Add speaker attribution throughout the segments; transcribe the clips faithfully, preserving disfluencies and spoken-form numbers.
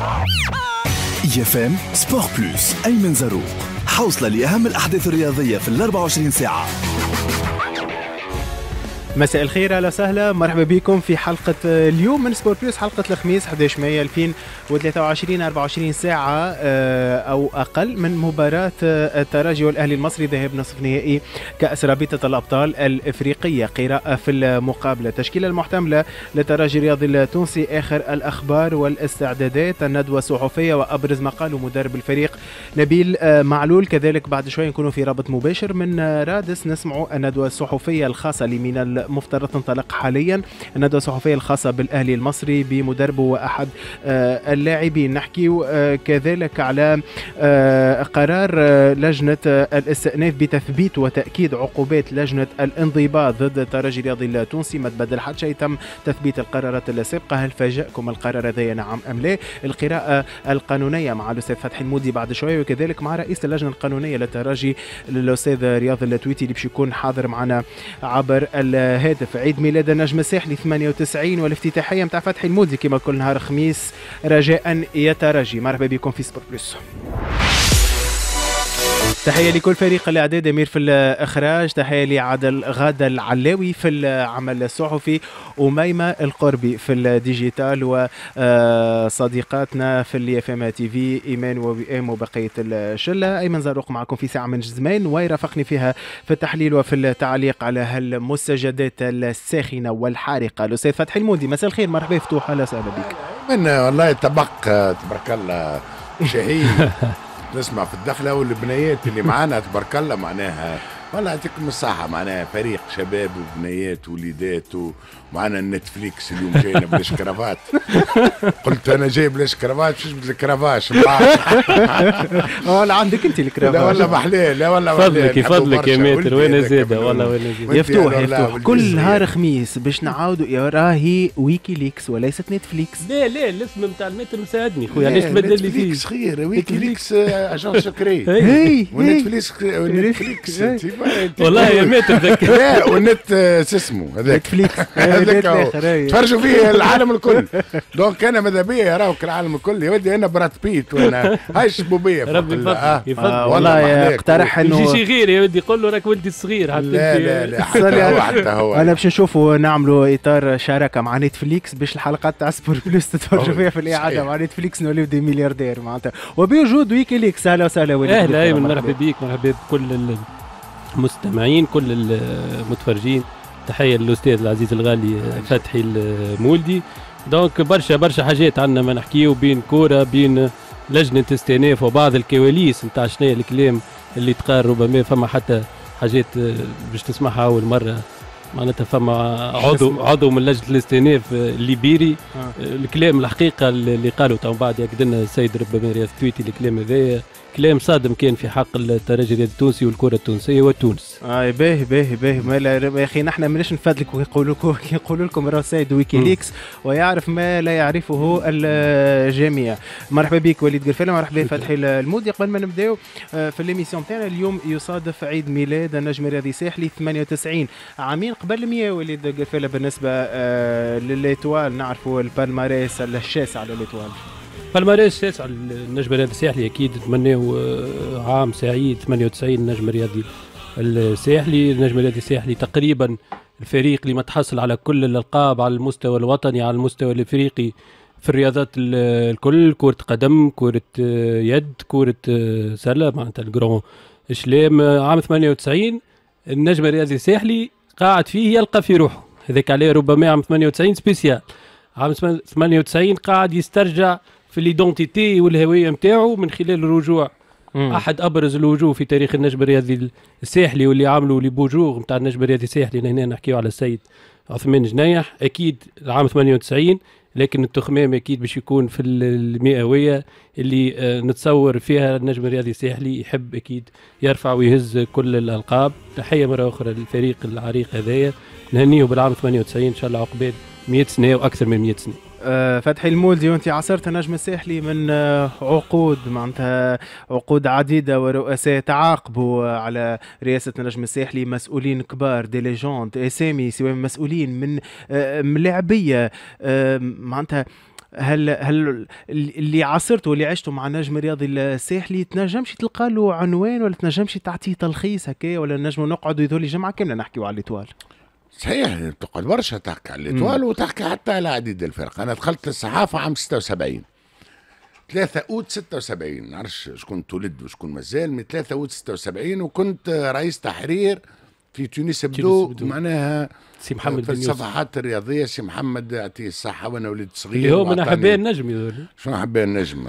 Speaker 1: IFM Sport Plus، ايمن زروق، حوصله لاهم الاحداث الرياضية في ال أربعة وعشرين ساعه.
Speaker 2: مساء الخير، اهلا وسهلا، مرحبا بكم في حلقة اليوم من Sport Plus، حلقة الخميس أحد عشر مايو ألفين وثلاثة وعشرين، أربعة وعشرين ساعة آه، أو أقل من مباراة آه، الترجي والأهلي المصري، ذهاب نصف نهائي كأس رابطة الأبطال الإفريقية. قراءة في المقابلة، التشكيلة المحتملة للترجي الرياضي التونسي، آخر الأخبار والاستعدادات، الندوة الصحفية وأبرز ما قاله مدرب الفريق نبيل آه، معلول. كذلك بعد شوي نكونوا في رابط مباشر من رادس، نسمعوا الندوة الصحفية الخاصة اللي من المفترض تنطلق حاليا، الندوة الصحفية الخاصة بالأهلي المصري بمدربه وأحد آه، اللاعبين. نحكي آه، كذلك على آه، قرار لجنة الاستئناف بتثبيت وتأكيد عقوبات لجنة الانضباط ضد الترجي الرياضي التونسي. ما تبدل حتى شيء، تم تثبيت القرارات السابقة. هل فاجأكم القرار هذا، نعم أم لا؟ القراءة القانونية مع الأستاذ فتحي المولدي بعد شوية، وكذلك مع رئيس اللجنة القانونية للترجي الأستاذ رياض التويتي اللي باش يكون حاضر معنا عبر الهاتف. عيد ميلاد النجم الساحلي ثمانية وتسعين والافتتاحية متاع فتحي المولدي كما كل نهار خميس. رجاء يا ترجي. مرحبا بكم في Sport Plus. تحية لكل فريق الإعداد، أمير في الإخراج، تحية لعادل غادة العلاوي في العمل الصحفي، أميمة القربي في ال digital، وصديقاتنا في ال IFM TV إيمان ووئام وبقية الشلة. أيمن زروق معكم في ساعة من زمان، ويرافقني فيها في التحليل وفي التعليق على هالمستجدات الساخنة والحارقة الأستاذ فتحي المولدي. مساء الخير، مرحبا فتوح، أهلا وسهلا بك.
Speaker 3: من والله طبق تبارك الله شهي، نسمع في الدخلة والبنيات اللي معانا تبارك الله، معناها والله يعطيكم الصحة، معناها فريق شباب وبنيات وليدات، ومعنا ال Netflix. اليوم جاينا بلاش كرافات، قلت انا جاي بلاش كرافات باش نجبد الكرافاش.
Speaker 2: ولا عندك انت الكرافاش؟
Speaker 3: لا والله محلاه، لا والله.
Speaker 4: فضلك يفضلك يا maître، وين زاده والله وين
Speaker 2: زاده. يفتوح يفتوح، كل نهار خميس باش نعاودوا، يا راهي ويكيليكس وليست Netflix.
Speaker 4: لا لا، الاسم نتاع ال maître مساعدني خويا، علاش تبدل لي فيه؟
Speaker 3: نتفليكس خير، ويكيليكس agent secret. و Netflix Netflix.
Speaker 4: والله يا maître.
Speaker 3: ذكر لا والنت شو اسمه
Speaker 2: هذاك نتفليكس.
Speaker 3: هذاك تفرجوا فيه العالم الكل، donc انا ماذا بيا يراوك العالم الكل يا ودي. انا براد بيت وانا هاي الشبوبيه.
Speaker 4: ربي يفضلك.
Speaker 2: آه والله اقترح انه
Speaker 4: يجي شي غير يا ودي، قول له راك ولدي الصغير.
Speaker 3: حتى لا لا لا، حتى هو حتى هو.
Speaker 2: انا باش نشوفوا نعملوا اطار شراكة مع Netflix باش الحلقات تاع Sport Plus تتفرجوا فيها في الاعادة مع Netflix، نوليو des milliardaires معناتها وبوجود ويكيليكس. اهلا وسهلا
Speaker 4: وليد. اهلا ايمن، مرحبا بك، مرحبا بكل المستمعين، كل المتفرجين. تحية للاستاذ العزيز الغالي فتحي المولدي. donc برشا برشا حاجات عندنا ما نحكيو، بين كوره، بين لجنة استئناف، وبعض الكواليس نتاع شنو الكلام اللي تقال. ربما فما حتى حاجات باش تسمعها اول مره، معناتها فما عضو عضو من لجنة الاستئناف الليبيري آه. الكلام الحقيقة اللي قالوا تو بعد ياكد لنا السيد ربما رياض تويتي، الكلام هذايا كلام صادم كان في حق الترجي الرياضي التونسي والكره التونسية وتونس.
Speaker 2: اي باهي باهي باهي، ما يا اخي نحن ماناش نفادلك، ويقولوا لكم يقولوا لكم راه سيد ويكيليكس ويعرف ما لا يعرفه الجميع. مرحبا بك وليد قرفالة، مرحبا فتحي المولدي. قبل ما نبداو آه، في l'émission تاعنا، اليوم يصادف عيد ميلاد النجم الرياضي الساحلي ثمانية وتسعين، عامين قبل مية وليد قرفالة بالنسبة آه، ل l'Étoile. نعرفوا ال palmarès الشاسع ل l'Étoile.
Speaker 4: palmarès شاسع النجم الرياضي الساحلي، اكيد نتمناو آه، عام سعيد ثمانية وتسعين النجم الرياضي الساحلي. النجم الرياضي الساحلي تقريبا الفريق اللي متحصل على كل الالقاب على المستوى الوطني، على المستوى الافريقي، في الرياضات الكل، كرة قدم، كرة آه، يد، كرة آه، سلة، معناتها ال grand chelem. عام ثمانية وتسعين النجم الرياضي الساحلي قاعد فيه يلقى في روحه، هذاك عليه ربما عام ثمانية وتسعين spécial. عام ثمانية وتسعين قاعد يسترجع في l'identité والهوية نتاعو من خلال الرجوع مم. احد ابرز الوجوه في تاريخ النجم الرياضي الساحلي واللي عملوا les beaux jours نتاع النجم الرياضي الساحلي، هنا نحكيو على السيد عثمان جنيح. اكيد العام ثمانية وتسعين، لكن التخمام اكيد باش يكون في المئويه اللي آه، نتصور فيها النجم الرياضي الساحلي يحب اكيد يرفع ويهز كل الالقاب. تحية مرة اخرى للفريق العريق هذايا، نهنيه بالعام ثمانية وتسعين، ان شاء الله عقبال مية سنة واكثر من مية سنه.
Speaker 2: آه، فتحي المولدي، وانت عاصرت النجم الساحلي من آه، عقود، معناتها عقود عديده، ورؤساء تعاقبوا على رئاسة النجم الساحلي، مسؤولين كبار، des légendes، اسامي، سواء مسؤولين من آه، ملاعبيه، معناتها هل هل اللي عاصرته واللي عشته مع النجم الرياضي الساحلي تنجمش تلقى له عنوان ولا تنجمش تعطيه تلخيص هكا، ولا نجموا نقعدوا يذولي جمعه كاملة نحكيوا على l'Étoile؟
Speaker 3: صحيح تقعد برشا تحكي على l'Étoile وتحكي حتى على عديد الفرق. انا دخلت الصحافة عام ستة وسبعين، ثلاثة أوت ستة وسبعين، نعرفش شكون تولد وشكون مازال، من ثلاثة أوت ستة وسبعين، وكنت رئيس تحرير في تونس ابدو، معناها
Speaker 4: سي محمد
Speaker 3: في الصفحات الرياضية. سي محمد يعطيه الصحة، وانا وليد صغير
Speaker 4: اللي هو من احباء النجم. يقول
Speaker 3: شنو احباء النجم؟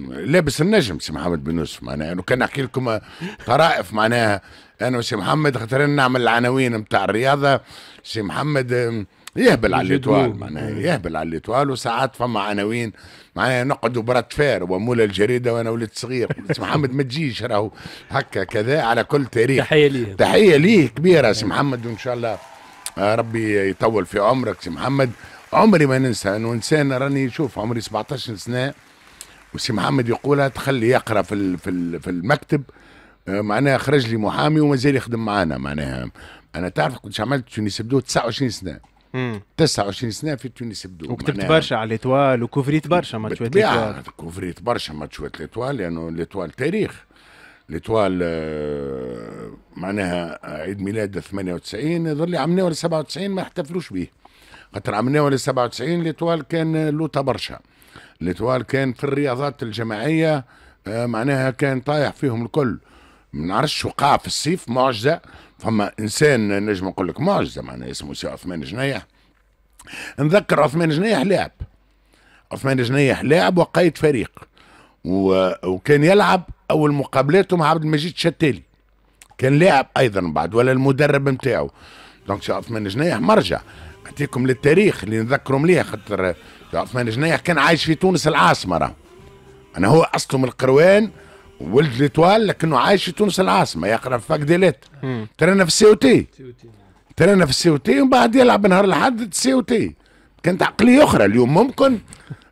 Speaker 3: لابس النجم سي محمد بن يوسف، معناها انه كان نحكي لكم طرائف معناها انا وسي محمد، خاطر نعمل العناوين نتاع الرياضة. سي محمد يهبل على l'Étoile، معناها يهبل على l'Étoile، وساعات فما عناوين معناها نقعدوا bras de fer ومولى الجريدة وانا ولد صغير، سي محمد ما تجيش راهو هكا كذا. على كل تاريخ
Speaker 4: تحية ليه،
Speaker 3: تحية ليه كبيرة سي محمد، وان شاء الله ربي يطول في عمرك سي محمد. عمري ما ننسى انه انسان راني شوف عمري سبعطاش سنة وسي محمد يقولها تخلي يقرا في في في المكتب، معناها خرج لي محامي ومازال يخدم معانا. معناها انا تعرف كنت عملت تونس ابدو تسعة وعشرين سنة، مم. تسعة وعشرين سنة في تونس ابدو،
Speaker 2: وكتبت برشا على l'Étoile وكوفريت برشا ماتشات l'Étoile.
Speaker 3: كوفريت برشا ماتشات l'Étoile لانه l'Étoile تاريخ. l'Étoile معناها عيد ميلاد ثمانية وتسعين يظل لي عملناه ولا سبعة وتسعين ما احتفلوش به، خاطر عملناه ولا سبعة وتسعين l'Étoile كان لوطا برشا. l'Étoile كان في الرياضات الجماعية معناها كان طايح فيهم الكل. ما نعرفش وقع في الصيف معجزه، فما انسان نجم نقول لك معجزه معناها اسمه سي عثمان جنيح. نذكر عثمان جنيح لاعب، عثمان جنيح لاعب وقايد فريق، و... وكان يلعب اول مقابلاته مع عبد المجيد شتالي، كان لاعب ايضا بعد ولا المدرب نتاعو. donc سي عثمان جنيح مرجع نعطيكم للتاريخ اللي نذكره مليح، خاطر عثمان جنيح كان عايش في تونس العاصمة، راه انا هو اصله من القروان ولد l'Étoile، لكنه عايش في تونس العاصمة يقرا في fac des lettres، ترانا في ال COT، ترانا في ال COT ومن بعد يلعب نهار الاحد ال COT. كانت عقلية اخرى. اليوم ممكن،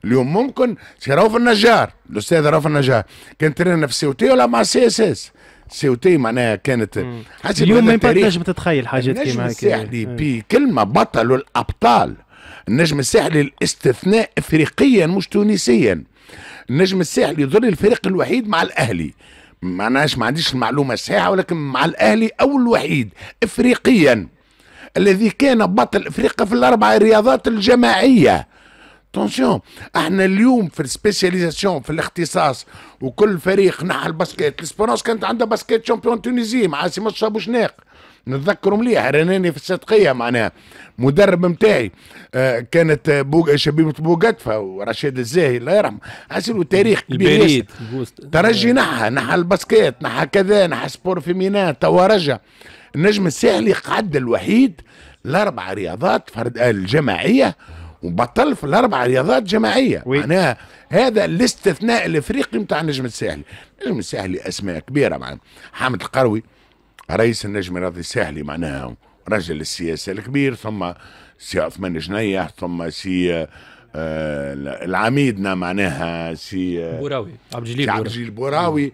Speaker 3: اليوم ممكن سي رؤوف النجار، الاستاذ رؤوف النجار كان ترانا في ال COT ولا مع CSS. COT معناها كانت
Speaker 2: حسب اليوم ما تنجم تتخيل حاجات كيما
Speaker 3: هكا. النجم الساحلي بكلمه بطل الابطال، النجم الساحلي الاستثناء افريقيا مش تونسيا. النجم الساحلي يظل الفريق الوحيد مع الاهلي، معناش ما عنديش المعلومة الصحيحة، ولكن مع الاهلي او الوحيد افريقيا الذي كان بطل افريقيا في الاربع رياضات الجماعية. attention احنا اليوم في ال spécialisation في الاختصاص، وكل فريق نحى ال basket. l'Espérance كانت عندها basket champion Tunisie مع سي مصطفى بوشناق، نتذكروا مليح، رناني في الصدقيه معناها مدرب نتاعي، آه كانت بوغ شبيبة بوغاتفا ورشيد الزاهي الله يرحمه، حسيلو تاريخ كبير. ترجي نحى نحى ال basket، نحى كذا، نحى sport féminin، توا رجع. النجم الساحلي قعد الوحيد الاربع رياضات فرد الجماعية، وبطل في الاربع رياضات جماعية. معناها هذا الاستثناء الافريقي نتاع النجم الساحلي. النجم الساحلي اسماء كبيرة، معناها حامد القروي رئيس النجم الرياضي الساحلي معناها رجل السياسة الكبير، ثم سي عثمان جنيح، ثم سي آه العميدنا معناها سي
Speaker 4: آه بوراوي، عبد الجليل
Speaker 3: عبد الجليل بوراوي،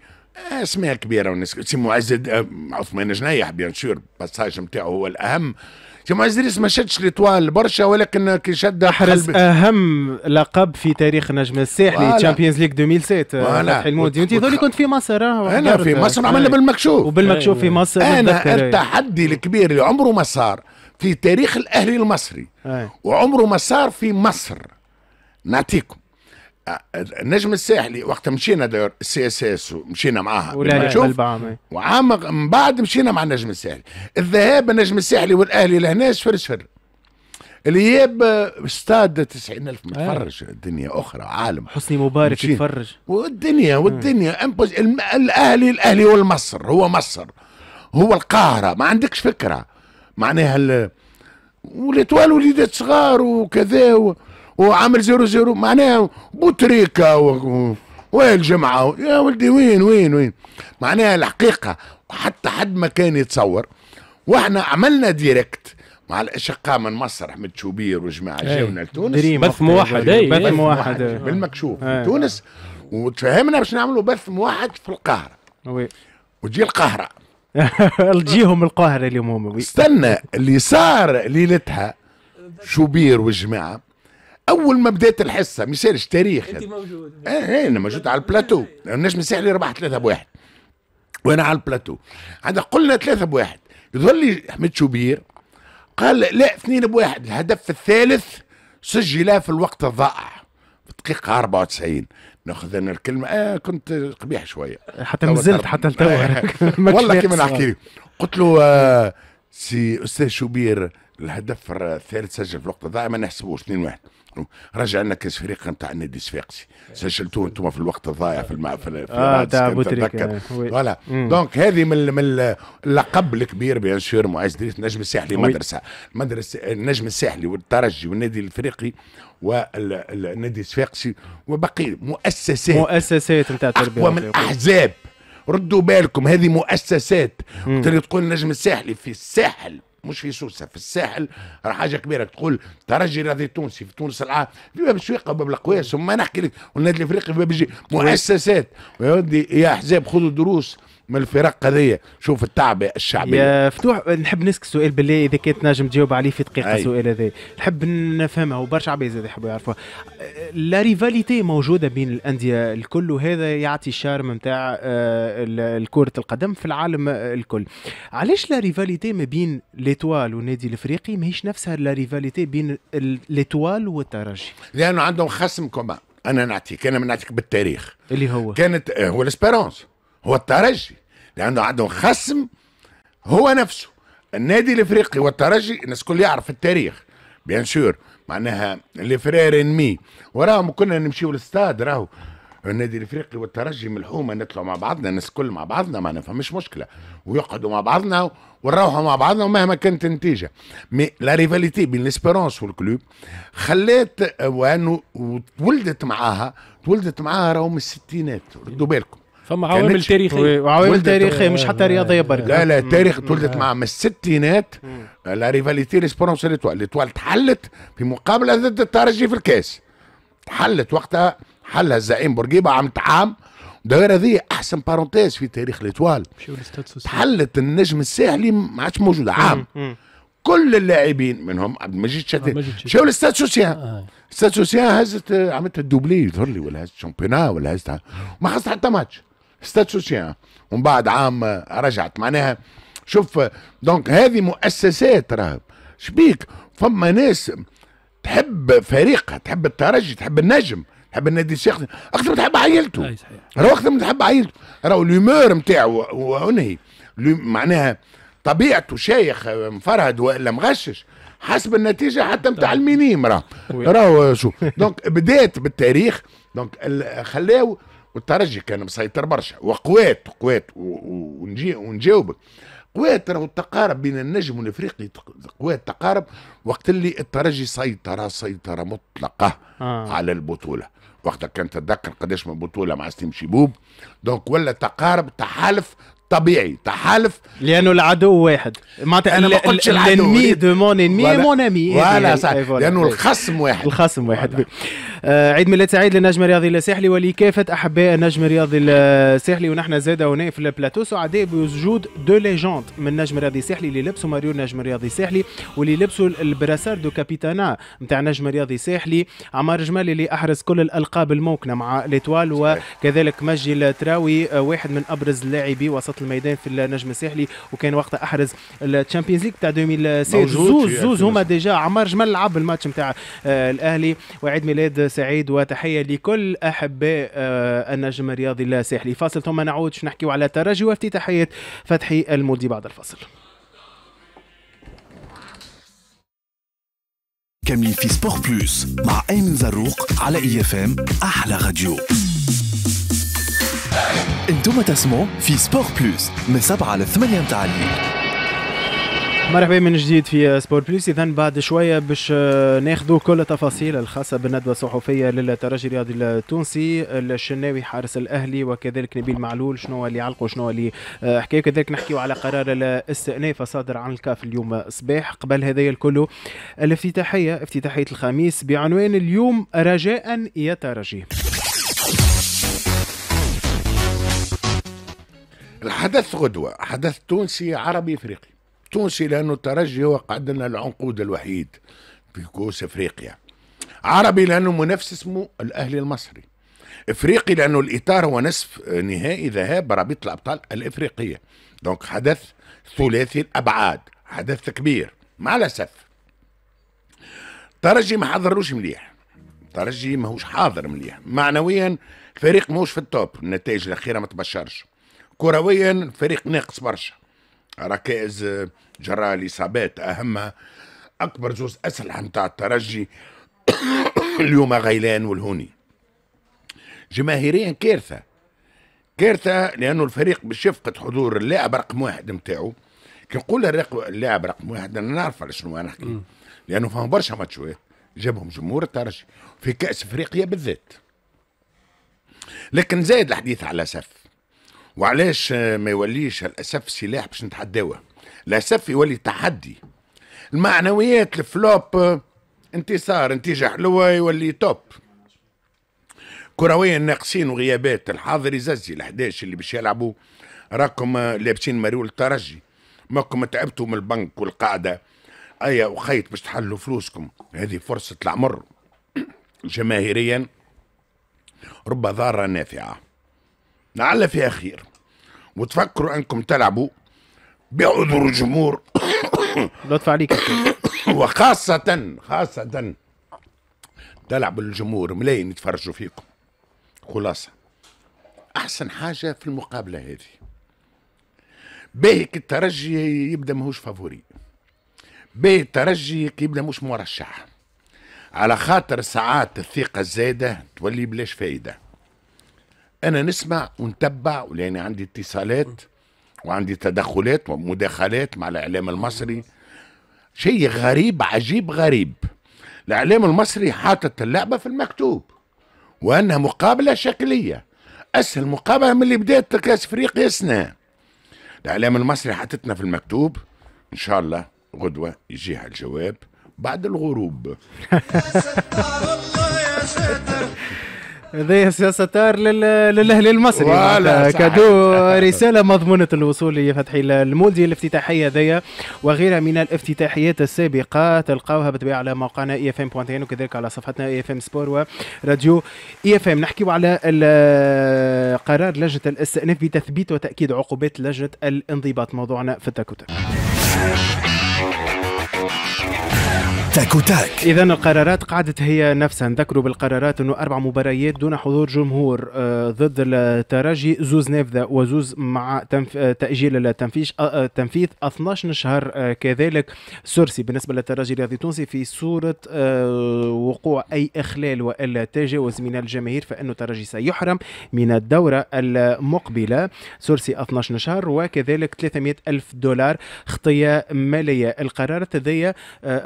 Speaker 3: اسماء كبيرة والناس. سي معز عثمان جنيح bien sûr passage نتاعو هو الاهم. سي معز دريس ما شدش l'Étoile برشا، ولكن كي شد
Speaker 2: احرز اهم لقب في تاريخ النجم الساحلي، Champions League ألفين وسبعة فتحي المودي. وانت ذولي كنت في مصر؟
Speaker 3: انا في مصر عملنا بالمكشوف،
Speaker 2: وبالمكشوف في مصر.
Speaker 3: انا التحدي الكبير اللي عمره ما صار في تاريخ الاهلي المصري وعمره ما صار في مصر، نعطيكم النجم الساحلي وقت مشينا داير ال CSS ومشينا معاها بالمكشوف، وعام من بعد مشينا مع النجم الساحلي. الذهاب النجم الساحلي والاهلي لهنا صفر صفر، الاياب استاد تسعين ألف متفرج، الدنيا اخرى، عالم.
Speaker 2: حسني مبارك يتفرج،
Speaker 3: والدنيا والدنيا امبوز. الاهلي الاهلي والمصر، هو مصر هو القاهرة، ما عندكش فكرة معناها ال... و l'Étoile وليدات صغار وكذا و... وعامل zéro zéro معناها بوتريكا و... وين الجمعة يا ولدي، وين وين وين معناها الحقيقة حتى حد ما كان يتصور. واحنا عملنا direct مع الاشقاء من مصر، احمد شوبير وجماعه جاونا لتونس،
Speaker 4: بث موحد،
Speaker 2: بث موحد
Speaker 3: بالمكشوف في تونس، وتفاهمنا باش نعملوا بث موحد في القاهرة.
Speaker 2: oui
Speaker 3: وتجي القاهرة
Speaker 2: تجيهم القاهرة اليوم هما.
Speaker 3: استنى اللي صار ليلتها شوبير والجماعة اول ما بدات الحصة ما يسالش تاريخ.
Speaker 4: انت موجود؟
Speaker 3: اه انا موجود على البلاتو. النجم الساحلي ربح ثلاثة بواحد وانا على البلاتو. عندك قلنا ثلاثة بواحد، يظهر لي احمد شوبير قال لا اثنين بواحد. الهدف الثالث سجل في الوقت الضائع في الدقيقة أربعة وتسعين. ناخذ انا الكلمة آه كنت قبيح شوية
Speaker 2: حتى مازلت حتى لتوا
Speaker 3: والله كيما نحكي لك. قلت له آه سي استاذ شوبير الهدف الثالث سجل في الوقت الضائع ما نحسبوش اثنين واحد. رجع لنا كاس افريقيا نتاع النادي الصفاقسي سجلتوه انتم في الوقت الضائع في المع في, في
Speaker 2: اه تاع بوتريكا
Speaker 3: voilà. donc هذه من من اللقب الكبير bien sûr معز دريس. النجم الساحلي مدرسه، مدرسه النجم الساحلي والترجي والنادي الافريقي والنادي الصفاقسي وبقي مؤسسات
Speaker 2: مؤسسات نتاع التربية
Speaker 3: اقوى من احزاب. ردوا بالكم هذه مؤسسات. تقول تقول النجم الساحلي في الساحل مش في سوسة، في الساحل راه حاجة كبيرة. تقول ترجي رياضي تونسي في تونس العام في باب السويقه وباب القواس وما نحكي لك، والنادي الافريقي في باب الجي. مؤسسات يا ودي يا احزاب خذوا دروس من الفرق هذيا. شوف التعبئه الشعبية.
Speaker 2: يا فتوح نحب نسك سؤال بالله اذا كانت نجم تجاوب عليه في دقيقة. السؤال هذا نحب نفهمه وبرشا عباد زاد يحبوا يعرفوها. la rivalité موجودة بين الاندية الكل وهذا يعطي ال charme نتاع كره القدم في العالم الكل. علاش la rivalité ما بين l'Étoile والنادي الافريقي ماهيش نفسها la rivalité بين l'Étoile والترجي؟
Speaker 3: لانه عندهم خصم commun. انا نعطيك انا نعطيك بالتاريخ
Speaker 2: اللي هو
Speaker 3: كانت هو l'Espérance هو الترجي، لانه عندهم خصم هو نفسه النادي الافريقي والترجي. الناس الكل يعرف التاريخ bien sûr معناها les frères ennemis. وراهم كنا نمشيو للاستاد راهو النادي الافريقي والترجي من الحومه نطلعوا مع بعضنا الناس الكل مع بعضنا ما فماش مشكلة، ويقعدوا مع بعضنا ونروحوا مع بعضنا ومهما كانت النتيجة. mais la rivalité بين l'Espérance وال Club خلات وانه تولدت معاها تولدت معاها راهو من الستينات. ردوا بالكم
Speaker 4: فما عوامل تاريخية
Speaker 2: وعوامل تاريخية مش حتى رياضية برك.
Speaker 3: لا لا التاريخ تولدت معاه من الستينات. la rivalité l'Espérance l'Étoile l'Étoile تحلت في مقابله ضد الترجي في الكاس، تحلت وقتها حلها الزعيم بورقيبة عام عام. داير هذه احسن parenthèse في تاريخ l'Étoile. تحلت النجم الساحلي ما عادش موجودة عام. كل اللاعبين منهم عبد المجيد شتات مشاو لل Stade Soussien. Stade Soussien هزت عملت ال doublé يظهر لي ولا هزت championnat ولا هزت ما خسرت حتى ماتش Stade Soussien. ومن بعد عام رجعت معناها. شوف donc هذه مؤسسات راهب شبيك. فما ناس تحب فريقها، تحب الترجي، تحب النجم، تحب النادي الشيخ اكثر من تحب عائلته. راهو اكثر من تحب عائلته، راهو l'humeur نتاعو وانهي معناها طبيعته شايخ مفرهد والا مغشش حسب النتيجة حتى نتاع ال minime راه راهو شو. donc بدات بالتاريخ. donc خلاو والترجي كان مسيطر برشا وقوات قوات ونجي ونجاوبك قوات راهو التقارب بين النجم والافريقي قوات تقارب وقت اللي الترجي سيطرة سيطرة مطلقه آه. على البطولة. وقتها كان تتذكر قداش من بطوله مع سليم شيبوب. donc ولا تقارب تحالف طبيعي تحالف
Speaker 2: لانه العدو واحد. معناتها
Speaker 3: انا ما قلتش العدو
Speaker 2: l'ennemi de mon ennemi mon ami
Speaker 3: voilà صح، لانه الخصم واحد
Speaker 2: الخصم واحد. آه عيد ميلاد سعيد للنجم الرياضي الساحلي ولكافه احباء النجم الرياضي الساحلي. ونحن زاد هنا في البلاتو سعداء بوجود deux légendes من النجم الرياضي الساحلي اللي لبسوا مريول النجم الرياضي الساحلي واللي لبسوا ال brassard de capitanat نتاع النجم الرياضي الساحلي. عمار جمال اللي احرز كل الالقاب الممكنة مع l'Étoile، وكذلك مجدي التراوي واحد من ابرز اللاعبي وسط الميدان في النجم الساحلي وكان وقتها احرز ال Champions League تاع ألفين وستة. زوز زوز هما déjà عمار جمال لعب الماتش نتاع الاهلي. وعيد ميلاد سعيد وتحية لكل احباء النجم الرياضي الساحلي. فاصل ثم نعود باش نحكيو على الترجي وافتتاحيه فتحي المولدي بعد الفاصل.
Speaker 1: كاملين في Sport Plus مع ايمن زروق على IFM احلى راديو. انتم تسمعوا في Sport Plus من سبعة ل ثمانية متاع الليل.
Speaker 2: مرحبا من جديد في Sport Plus. اذا بعد شوية باش ناخذوا كل التفاصيل الخاصة بالندوه الصحفية للترجي الرياضي التونسي، الشناوي حارس الاهلي وكذلك نبيل معلول شنو اللي علقوا شنو اللي حكاوا، كذلك نحكيوا على قرار الاستئناف الصادر عن الكاف اليوم صباح. قبل هذا الكل الافتتاحيه افتتاحيه الخميس بعنوان اليوم رجاء يا ترجي.
Speaker 3: الحدث غدوه حدث تونسي عربي افريقي. تونسي لانه الترجي هو قعد لنا العنقود الوحيد في كؤوس افريقيا. عربي لانه منافس اسمه الاهلي المصري، افريقي لانه الاطار هو نصف نهائي ذهاب رابطه الابطال الافريقية، donc حدث ثلاثي الابعاد، حدث كبير. مع الاسف ترجي ما حضروش مليح، ترجي ماهوش حاضر مليح معنويا، الفريق ماهوش في ال top، النتائج الاخيرة ما تبشرش. كرويا الفريق ناقص برشا ركائز جراء الاصابات، اهمها اكبر زوز اسلحة نتاع الترجي اليوم غيلان والهوني. جماهيريا كارثة، كارثة لانه الفريق باش يفقد حضور اللاعب رقم واحد نتاعو. كي نقول اللاعب رقم واحد انا نعرف على شنو انا نحكي، لانه فهم برشا ماتشات جابهم جمهور الترجي في كاس افريقيا بالذات. لكن زايد الحديث على الاسف، وعلاش ما يوليش الاسف سلاح باش نتحداوه؟ الاسف يولي تحدي. المعنويات ال flop، انتصار نتيجة حلوة يولي top. كرويا ناقصين وغيابات، الحاضر يززي الأحداش اللي باش يلعبوا راكم لابسين مريول الترجي، ماكم تعبتوا من البنك والقاعدة، ايا وخيط باش تحلوا فلوسكم، هذه فرصة العمر. جماهيريا رب ضارة نافعة، لعل فيها خير، وتفكروا انكم تلعبوا بعذر الجمهور.
Speaker 2: لطف عليك.
Speaker 3: وخاصة خاصة تلعب الجمهور، ملايين يتفرجوا فيكم. خلاصة أحسن حاجة في المقابلة هذه باهي كي الترجي يبدا ماهوش favori، باهي الترجي كي يبدا مش مرشح، على خاطر ساعات الثقة الزايدة تولي بلاش فايدة. أنا نسمع ونتبع ولأني عندي اتصالات وعندي تدخلات ومداخلات مع الإعلام المصري، شيء غريب عجيب غريب. الإعلام المصري حاطط اللعبة في المكتوب وأنها مقابلة شكلية، أسهل مقابلة من اللي بدأت كأس أفريقيا سنة. الإعلام المصري حاطتنا في المكتوب، إن شاء الله غدوة يجيها الجواب بعد الغروب.
Speaker 2: هذا يا ستار للاهلي المصري، cadeau، رسالة مضمونه الوصول لفتحي المولدي. الافتتاحيه ذي وغيرها من الافتتاحيات السابقة تلقاوها بالطبيعة على موقعنا اي اف ام point tn، وكذلك على صفحتنا اي اف ام سبور وراديو اي اف ام. نحكيو على قرار لجنة الاستئناف بتثبيت وتاكيد عقوبات لجنة الانضباط، موضوعنا في التاكوتاك.
Speaker 1: تاكوتاك.
Speaker 2: إذا القرارات قعدت هي نفسها، نذكروا بالقرارات أنه أربع مباريات دون حضور جمهور ضد الترجي، زوز نافذة وزوز مع تنف... تأجيل التنفيذ التنفيذ اثناش شهر، كذلك sursis بالنسبة للترجي الرياضي التونسي في صورة وقوع أي إخلال وإلا تجاوز من الجماهير فإنه الترجي سيحرم من الدورة المقبلة، sursis اثناش شهر وكذلك ثلاثمئة ألف دولار خطية مالية. القرارات هذيا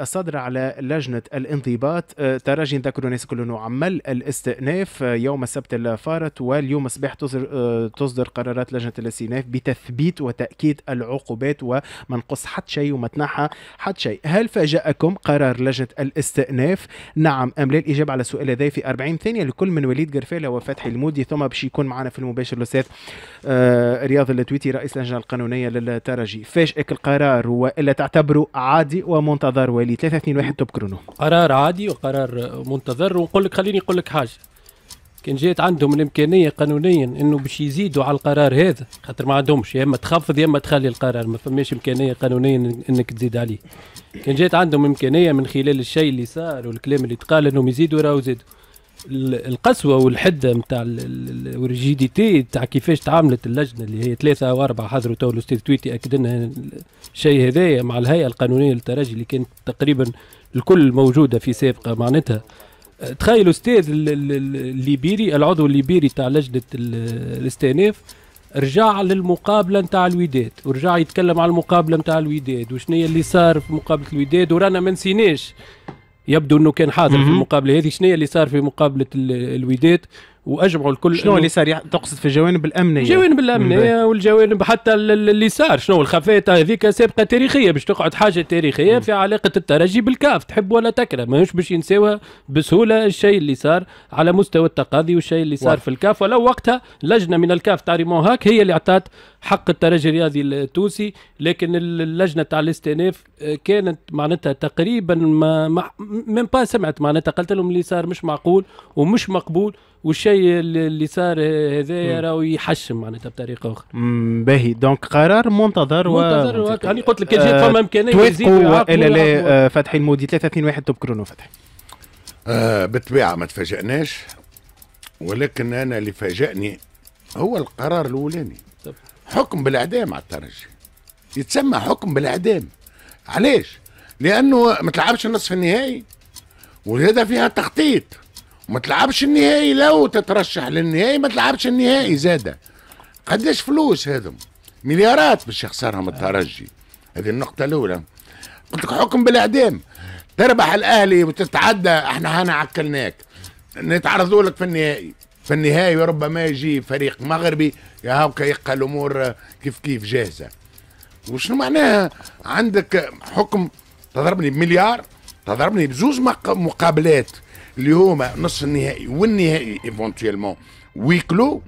Speaker 2: صادرة على لجنة الانضباط. ترجي نذكروا الناس كل انه عمل الاستئناف يوم السبت الفارط، واليوم الصباح تصدر, تصدر قرارات لجنة الاستئناف بتثبيت وتأكيد العقوبات وما نقص حتى شيء وما تنحى حتى شيء. هل فاجأكم قرار لجنة الاستئناف؟ نعم أم لا؟ الإجابة على السؤال هذا في أربعين ثانية لكل من وليد قرفالة وفتحي المودي، ثم باش يكون معنا في المباشر الأستاذ رياض التويتي رئيس اللجنة القانونية للترجي. فاجأك القرار وإلا تعتبره عادي ومنتظر؟ وليد ثلاثة اثنين واحد top chrono.
Speaker 4: قرار عادي وقرار منتظر. ونقول لك خليني نقول لك حاجة، كان جات عندهم الامكانية قانونيا انه باش يزيدوا على القرار هذا، خاطر ما عندهمش، يا اما تخفض يا اما تخلي القرار، ما فماش امكانية قانونيا انك تزيد عليه. كان جات عندهم امكانية من خلال الشيء اللي صار والكلام اللي تقال انهم يزيدوا راهو زادوا. القسوة والحده نتاع وال rigidité نتاع كيفاش تعاملت اللجنة اللي هي ثلاثة او اربعة حضروا تو الاستاذ تويتي اكد لنا الشيء هذايا مع الهيئة القانونية للترجي اللي كانت تقريبا الكل موجودة في سابقه. معناتها تخيل استاذ الليبيري العضو الليبيري تاع لجنة الاستئناف رجع للمقابله نتاع الوداد ورجع يتكلم على المقابلة نتاع الوداد وشنو اللي صار في مقابله الوداد، ورانا ما نسيناش يبدو انه كان حاضر في المقابلة هذه، شنو اللي صار في مقابله الوداد واجمعوا الكل.
Speaker 2: شنو اللي صار تقصد في الجوانب الامنية؟
Speaker 4: الجوانب الامنية والجوانب حتى اللي صار، شنو الخفايا هذيك سابقه تاريخية باش تقعد حاجة تاريخية في علاقة الترجي بالكاف، تحب ولا تكره، ماهوش باش ينساوها بسهولة الشيء اللي صار على مستوى التقاضي والشيء اللي صار في الكاف. ولو وقتها لجنة من الكاف تاع ريمون هاك هي اللي اعطت حق الترجي الرياضي التونسي، لكن اللجنة تاع الاستئناف كانت معناتها تقريبا ما même pas سمعت، معناتها قالت لهم اللي صار مش معقول ومش مقبول، والشيء اللي صار هذايا راهو يحشم معناتها بطريقة اخرى.
Speaker 2: باهي، donc قرار منتظر
Speaker 4: منتظر و... يعني قلت لك كان جات فما امكانية
Speaker 2: يزيد والا لا. فتحي المودي ثلاثة اثنين واحد top chrono. فتحي
Speaker 3: آه بالطبيعة ما تفاجئناش، ولكن انا اللي فاجأني هو القرار الاولاني، حكم بالاعدام على الترجي، يتسمى حكم بالاعدام. علاش؟ لانه ما تلعبش النصف النهائي وهذا فيها تخطيط، وما تلعبش النهائي لو تترشح للنهائي ما تلعبش النهائي زاده. قداش فلوس هذم؟ مليارات باش يخسرهم الترجي. هذه النقطة الأولى. قلت لك حكم بالإعدام، تربح الأهلي وتتعدى احنا هنا عكلناك، نتعرضوا لك في النهائي، في النهائي ربما يجي فريق مغربي يا هاكا يلقى الأمور كيف كيف جاهزة. وشنو معناها عندك حكم تضربني بمليار، تضربني بزوز مقابلات اللي هما نص النهائي والنهائي éventuellement huis clos،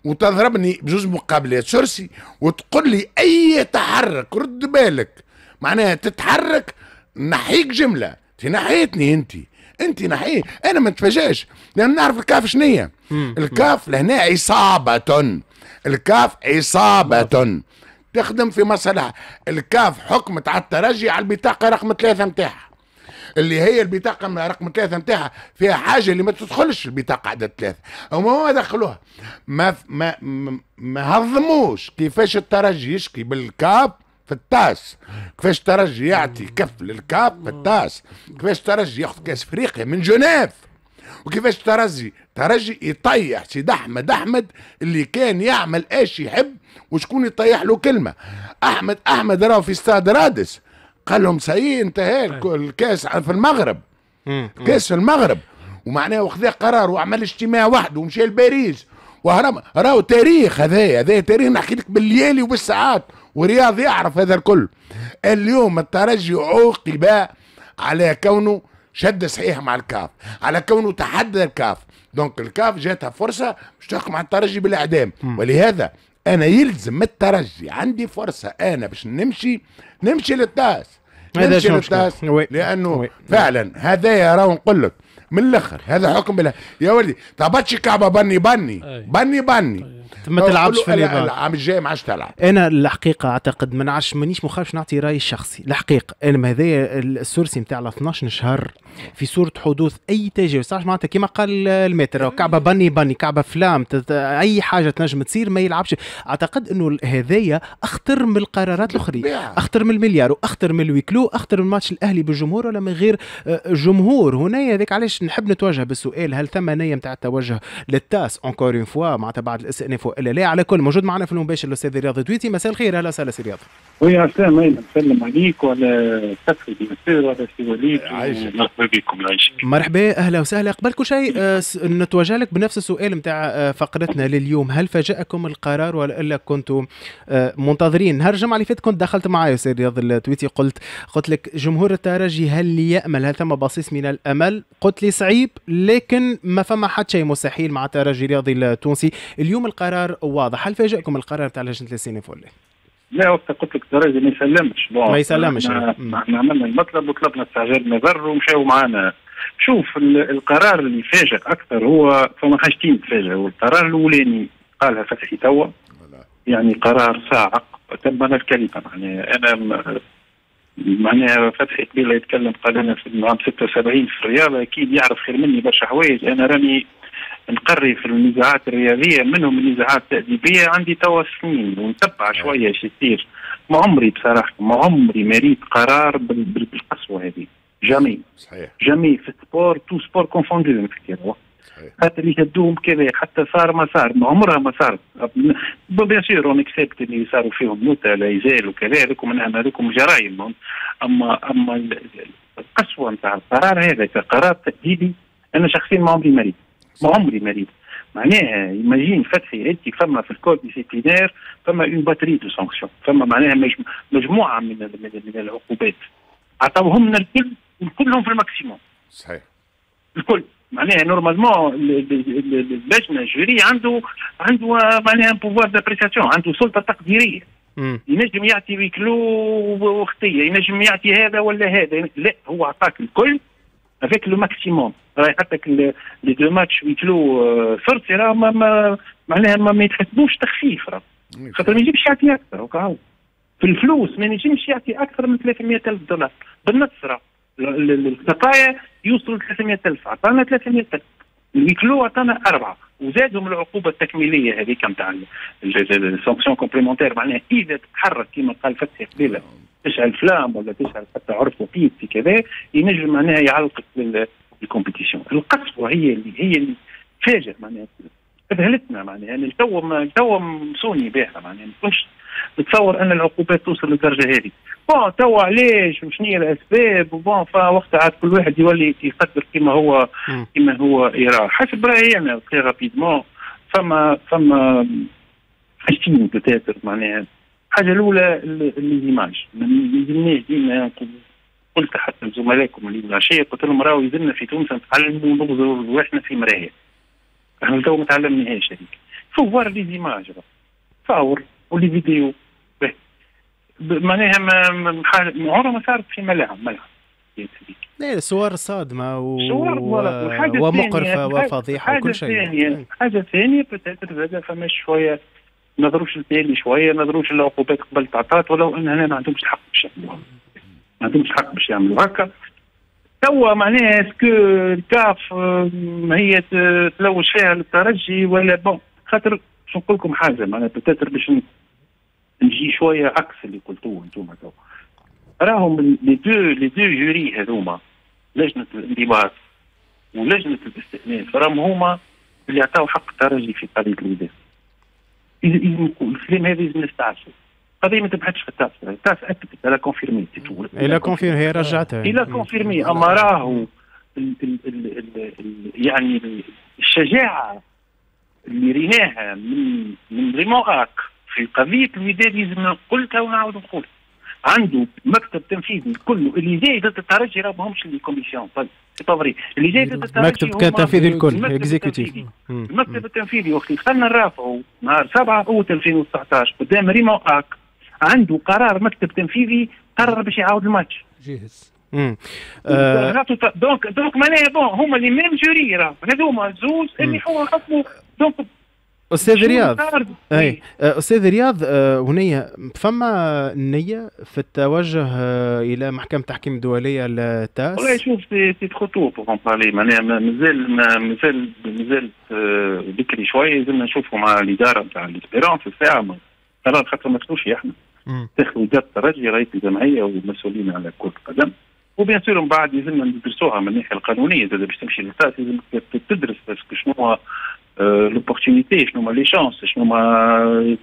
Speaker 3: وتضربني بزوز مقابلات sursis، وتقول لي اي تحرك رد بالك، معناها تتحرك نحيك جملة، تنحيتني انت، انت نحيه. انا ما نتفاجاش لان نعرف الكاف شنية. الكاف لهنا عصابة، الكاف عصابة تخدم في مصالحها. الكاف حكمت على الترجي على البطاقة رقم ثلاثة نتاعها، اللي هي البطاقة رقم ثلاثة نتاعها فيها حاجة اللي ما تدخلش البطاقة عدد ثلاثة، هما ما دخلوها، ما ما ما هضموش كيفاش الترجي يشكي بالكاف في ال TAS، كيفاش الترجي يعطي كف للكاف في ال TAS، كيفاش الترجي ياخذ كاس افريقيا من جنيف، وكيفاش الترجي ترجي يطيح سيد احمد احمد اللي كان يعمل ايش يحب وشكون يطيح له كلمة. احمد احمد راهو في استاد رادس قال لهم ça y est انتهى الكاس في المغرب، كاس في المغرب، ومعناه وخذا قرار وعمل اجتماع وحده ومشى لباريس وهرم. راهو تاريخ هذايا، هذا تاريخ نحكي لك بالليالي وبالساعات، ورياض يعرف هذا الكل. اليوم الترجي عوقب على كونه شد صحيح مع الكاف، على كونه تحدى الكاف، donc الكاف جاتها فرصة باش تحكم على الترجي بالاعدام. ولهذا انا يلزم الترجي عندي فرصة انا باش نمشي نمشي لل TAS، نمشي لل TAS، لانه oui. فعلا هذايا راهو نقول لك من الاخر هذا حكم بالله يا ولدي. تهبطش كعبه بني بني بني بني
Speaker 2: ما تلعبش في اليابان
Speaker 3: العام الجاي ما عادش تلعب.
Speaker 2: انا الحقيقة اعتقد ما نعرفش، مانيش مخالف نعطي رايي الشخصي الحقيقة. انا هذايا ال sursis نتاع اثناش شهر في صوره حدوث اي تجاوز، تعرف معناتها كيما قال الماتر كعبه بني بني كعبه فلام اي حاجة تنجم تصير ما يلعبش. اعتقد انه هذايا اخطر من القرارات الاخرى، اخطر من المليار واخطر من ال huis clos، اخطر من ماتش الاهلي بالجمهور ولا من غير جمهور. هنا هذاك علاش نحب نتوجه بالسؤال، هل ثم نيه نتاع التوجه لل TAS encore une fois معناتها بعد الاستئناف والا لا؟ على كل موجود معنا في المباشر الاستاذ رياض تويتي. مساء الخير، اهلا وسهلا سي رياض.
Speaker 5: oui عسلامة، أيمن نسلم عليك وعلى فتحي بن وعلى سي وليد، مرحبا بكم. يعيشك.
Speaker 2: مرحبا، اهلا وسهلا. قبل كل شيء نتوجه لك بنفس السؤال نتاع فقرتنا لليوم، هل فاجأكم القرار ولا كنتم منتظرين؟ نهار الجمعة اللي فاتت كنت دخلت معايا سي رياض التويتي، قلت قلت لك جمهور الترجي هل يأمل، هل ثم بصيص من الأمل؟ قلت لي صعيب، لكن ما فما حتى شيء مستحيل مع الترجي الرياضي التونسي. اليوم القرار واضح، هل فاجأكم القرار تاع لجنة الاستئناف ولا؟
Speaker 5: لا، وقت قلت لك الترجي ما يسلمش،
Speaker 2: ما يسلمش.
Speaker 5: احنا عملنا المطلب وطلبنا استعجال نظر ومشاو معانا. شوف القرار اللي فاجئ اكثر هو فما حاجتين تفاجئوا. القرار الاولاني قالها فتحي توا، يعني قرار صاعق تبنى الكلمة. يعني انا معناها فتحي قبيلة يتكلم قال انا في عام ستة وسبعين في الرياضة، اكيد يعرف خير مني برشا حوايج. انا راني نقري في النزاعات الرياضية، منهم النزاعات التأديبيه، عندي توا سنين ونتبع شوية شي يصير. ما عمري بصراحة ما عمري ما ريت قرار بالقسوه هذه، jamais.
Speaker 3: صحيح،
Speaker 5: jamais في ال sport، tous sports confondus نحكي. حتى اللي شدوهم كذا، حتى صار ما صار، ما عمرها ما صارت. bien sûr on accepte اللي صاروا فيهم موتى لا يزال وكذا، هذوكم هذوكم جرائم. اما اما القسوة نتاع القرار هذا كقرار تأديبي، انا شخصيا ما عمري ما ريت، ما عمري ما ريت. معناها imagine فتحي انت فما في ال code disciplinaire فما une batterie de sanctions، فما معناها مجموعة من من العقوبات عطاوهم لنا الكل، كلهم في ال maximum.
Speaker 3: صحيح
Speaker 5: الكل معناها normalement اللجنة ال jury عنده عنده معناها pouvoir d'appréciation، عنده سلطة تقديرية، ينجم يعطي huis clos وخطيه، ينجم يعطي هذا ولا هذا، لا هو عطاك الكل avec le maximum. راهي حتى les deux matchs huis clos sursis راه ما معناها ما, ما يتحسبوش تخفيف، راه خاطر ما يجيبش يعطي اكثر. وكاو في الفلوس ما ينجمش يعطي اكثر من ثلاثمية ألف دولار بالنص، راه الخطايا يوصلوا ثلاثمية ألف، عطانا ثلاثمية ألف، ال huis clos عطانا أربعة، وزادهم العقوبة التكميلية هذيك نتاع ال sanction complémentaire. معناها إذا تتحرك كما قال فتحي قبيلة تشعل flamme ولا تشعل حتى عرف وقيت في كذا، ينجم معناها يعلقك لل compétition. القسوة هي اللي هي اللي فاجئ معناها اذهلتنا، معناها يعني تو تو مسوني بها، معناها ما كنتش نتصور ان العقوبات توصل للدرجة هذه. bon توا علاش وشنو هي الاسباب، bon فوقتها عاد كل واحد يولي يقدر كما هو كما هو يرى. حسب رايي انا très rapidement فما فما حاجتين peut-être. معناها الحاجة الاولى les images، ما يلزمناش ديما، قلت حتى لزملائكم اللي العشية قلت لهم راهو يلزمنا في تونس نتعلموا نغزروا رواحنا في مراية، احنا تو ما تعلمناهاش هذيك. faut voir les images، تصاور و les vidéos، معناها ما عمرها ما صارت في ملاعب ملعب.
Speaker 2: لا صور صادمه و... صور ومقرفه وفضيحه وكل شيء.
Speaker 5: حاجة ثانية peut-être زاد فما شوية نظروش التالي شوية، نظروش العقوبات قبل تعطات، ولو ان هنا ما عندهمش الحق باش يعملوها، ما عندهمش الحق باش يعملوا هكا. توا معناها est-ce que الكاف هي تلوج فيها للترجي ولا bon، خاطر باش نقول لكم حاجة معناها peut-être باش نجي شوية عكس اللي قلتوه انتم تو، راهم les deux les deux jurys هذوما لجنة الانضباط ولجنه الاستئناف، راهم هما اللي عطاو حق الترجي في قضية الوداد. الكلام هذا لازم نستعرفوا، القضية ما تبحثش في التاس، التاس اكدت elle a confirmé،
Speaker 2: elle a confirmé، هي رجعتها
Speaker 5: elle a confirmé. اما راهو ال ال ال ال يعني الشجاعة اللي ريناها من من ريمون اك في قضية الوداد لازم قلتها ونعاود نقول، عنده مكتب تنفيذي كله اللي جاي ضد الترجي راه ماهمش les commissions، c'est pas vrai، اللي جاي ضد الترجي
Speaker 2: مكتب كان تنفيذي الكل exécutif.
Speaker 5: المكتب التنفيذي وقت دخلنا نرافعوا نهار سبعة اوت ألفين وتسعطاش قدام ريمون اك، عنده قرار مكتب تنفيذي قرر باش يعاود الماتش
Speaker 4: جاهز.
Speaker 2: امم آه.
Speaker 5: donc donc معناها bon هما les mêmes jurys راه هذوما زوز اللي هو حكموا. donc
Speaker 2: استاذ رياض، اي استاذ رياض، هنية فما نية في التوجه الى محكمة التحكيم الدولية للتاس؟
Speaker 5: والله شوف c'est trop tôt pour en parler، معناها مازال مازال مازال بكري شوية، لازمنا نشوفوا مع الادارة نتاع l'Espérance الساعة قرار، خاطر ما تخلوش احنا تاخذوا ادارة الترجي رئيس الجمعية والمسؤولين على كره القدم، و bien sûr من بعد لازمنا ندرسوها من الناحية القانونية زاد باش تمشي للتاس لازم تدرس parce que شنو l'opportunité، شنو هما les chances، شنو هما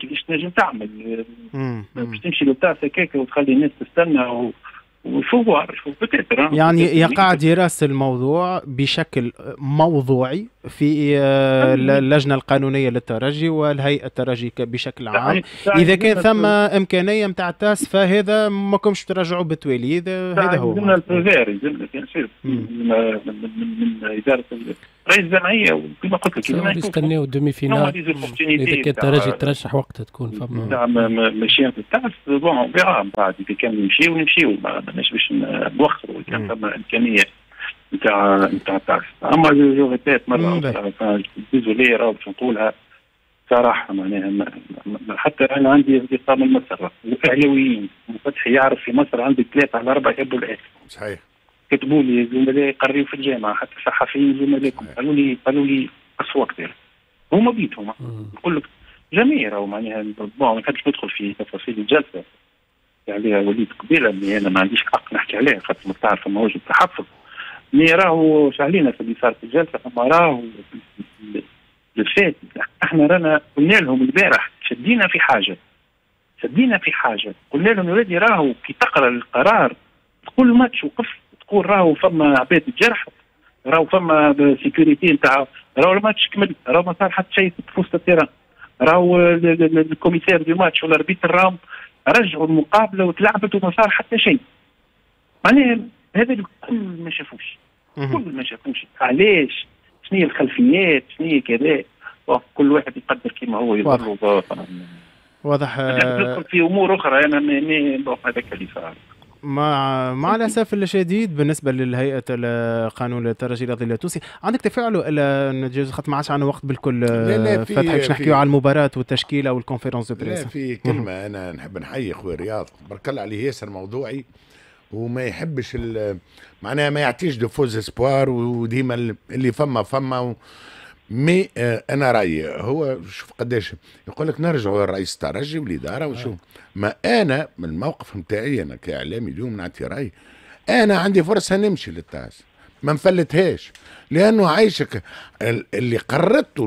Speaker 5: كيفاش تنجم تعمل باش تمشي للتاس هكاك وتخلي الناس تستنى و faut voir faut peut-être.
Speaker 2: يعني يقع دراسة الموضوع بشكل موضوعي في اللجنة القانونية للترجي والهيئة الترجي بشكل عام. إذا كان ثم إمكانية متاع التاس فهذا ما كمش ترجعوا بالتوالي، هذا هو.
Speaker 5: يلزمنا ال feu vert، يلزمنا bien sûr من إدارة رئيس الجمعية، وكما قلت لك
Speaker 4: نستناو demi-finale إذا كان الترجي ترشح وقتها تكون فما
Speaker 5: نعم ماشيين في التاس. bon verra بعد إذا كان نمشيو نمشيو، ماناش باش نوخروا كان فما إمكانية نتاع نتاع التاس. أما je répète مرة أخرى désolé راهو باش نقولها صراحة، معناها حتى أنا عندي أصدقاء من مصر وأهلاويين، وفتحي يعرف في مصر عندي ثلاثة على أربعة يحبوا الأهلي.
Speaker 3: صحيح.
Speaker 5: كتبوا لي زملاء يقريوا في الجامعة، حتى صحفيين زملائكم قالوا لي قالوا لي اصوات هما بيتهم نقول لك جميع راهو معناها bon ما نحبش ندخل في تفاصيل الجلسة عليها وليد قبيلة، mais انا ما عنديش حق نحكي عليها خاطر ما تعرف ما وجد تحفظ، mais راهو شعلينا في اللي صار في الجلسة. اما راهو الفات احنا رانا قلنا لهم البارح شدينا في حاجة، شدينا في حاجة قلنا لهم يا ولادي راهو كي تقرا القرار تقول الماتش وقف، تقول راهو فما عباد تجرحت، راهو فما sécurité نتاع، راهو الماتش كمل، راهو ما صار حتى شيء في وسط ال terrain، راهو ال commissaire du match ولا l'arbitre راهم رجعوا المقابلة وتلعبت وما صار حتى شيء. معناها هذا الكل ما شافوش، كل ما شافوش. علاش؟ شنو هي الخلفيات؟ شنو هي كذا؟ كل واحد يقدر كما هو يضر.
Speaker 2: واضح.
Speaker 5: ندخل في امور اخرى انا ما هذاك اللي صار.
Speaker 2: مع مع الاسف الشديد بالنسبة للهيئة القانون الترجي الرياضي التونسي، عندك تفاعل ولا نتجاوز خاطر ما عادش عندنا وقت بالكل؟ فتحي باش نحكيو على المباراة والتشكيله وال conférence de presse.
Speaker 3: لا في كلمة انا نحب نحيي خويا رياض، بارك الله عليه، ياسر موضوعي وما يحبش معناها ما يعطيش de faux espoirs، وديما اللي فما فما و... mais انا رايي هو شوف قداش يقول لك نرجعوا للرئيس الترجي والادارة وشوف. ما انا من الموقف نتاعي انا كاعلامي اليوم نعطي رايي، انا عندي فرصة نمشي للتاس ما نفلتهاش، لانه عايشك اللي قررته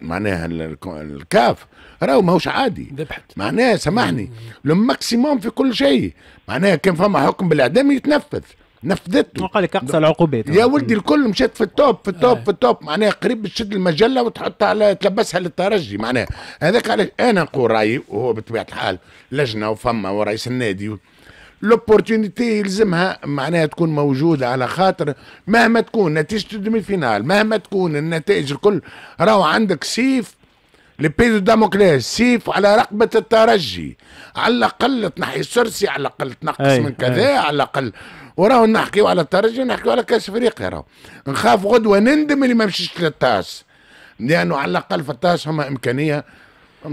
Speaker 3: معناها الكاف راهو ماهوش عادي،
Speaker 4: ذبحت
Speaker 3: معناها سامحني le maximum في كل شيء، معناها كان فما حكم بالاعدام يتنفذ، نفذته.
Speaker 2: وقال لك اقصى العقوبات
Speaker 3: يا ولدي، الكل مشات في ال top في ال top آه. في ال top، معناها قريب تشد المجلة وتحطها على تلبسها للترجي، معناها هذاك علاش انا نقول رايي، وهو بطبيعة الحال لجنة وفما ورئيس النادي، l'opportunité يلزمها معناها تكون موجودة، على خاطر مهما تكون نتيجة ال demi-finale، مهما تكون النتائج الكل، راهو عندك سيف l'épée de Damoclès، سيف على رقبة الترجي، على الاقل تنحي ال sursis، على الاقل تنقص أي من كذا، على الاقل. وراهو نحكيو على الترجي ونحكيو على كاس افريقيا، راهو نخاف غدوه نندم اللي ما مشيش للتاس، لانه على الاقل في التاس هما امكانية.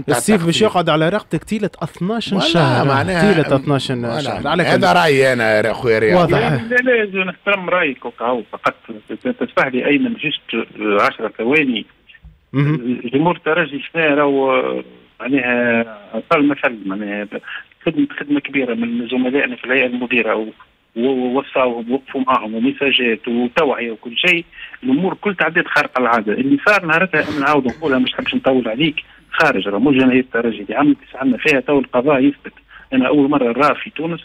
Speaker 2: السيف باش يقعد على رقبتك طيلة اثناش شهر،
Speaker 3: معناها
Speaker 2: طيلة اثناش شهر.
Speaker 3: على هذا رايي انا خويا رياض.
Speaker 2: واضح.
Speaker 5: لا لا نحترم رايك وكهو، فقط تسمح لي ايمن juste عشرة ثواني. جمهور الترجي شنو راهو معناها أقل مثل، معناها خدمة خدمة كبيرة من زملائنا في الهيئة المديرة، ووصاوهم وقفوا معاهم ومساجات وتوعيه وكل شيء، الامور كل تعديت خارقة العادة. اللي صار نهارتها انا نعاود نقولها، مش حبش نطول عليك، خارج راه مش جماهير الترجي اللي عملت عندنا فيها تو القضاء يثبت. انا اول مرة نرى في تونس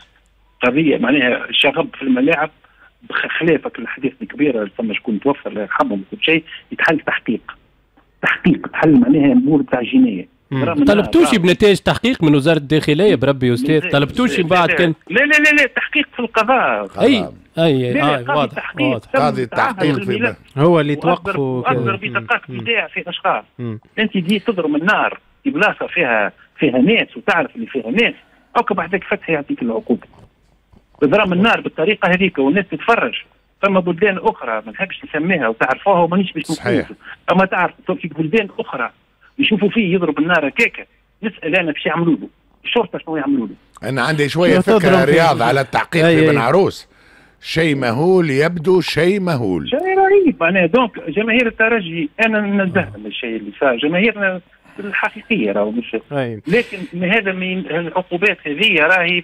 Speaker 5: قضية معناها شغب في الملاعب بخلافك الاحداث الكبيرة اللي فما شكون توفى الله يرحمهم وكل شيء، يتحل تحقيق تحقيق تحل معناها امور تاع جناية.
Speaker 4: طلبتوش بنتائج تحقيق من وزارة الداخلية بربي يا استاذ؟ طلبتوش بعد كان؟
Speaker 5: لا لا لا لا تحقيق في القضاء.
Speaker 4: اي اي اي واضح واضح.
Speaker 3: قاضي التحقيق في
Speaker 2: هو اللي توقفوا
Speaker 5: واصدر بطاقات ايداع في اشخاص. انت دي تضرب النار في بلاصة فيها فيها ناس وتعرف اللي فيها ناس، او بعدك فتحي يعطيك العقوبة. اضرام النار بالطريقة هذيك والناس تتفرج. فما بلدان اخرى ما نحبش نسميها وتعرفوها ومانيش باش نقول، اما تعرف في بلدان اخرى يشوفوا فيه يضرب النار هكاكا، نسال انا باش يعملوا له الشرطة شنو يعملوا له.
Speaker 3: انا عندي شوية فكرة رياض على التحقيق في بن عروس، شيء مهول يبدو، شيء مهول،
Speaker 5: شيء رهيب معناها. donc جماهير الترجي انا ننزهها من الشيء اللي صار، جماهيرنا الحقيقية راهو مش، لكن هذا من العقوبات هذه راهي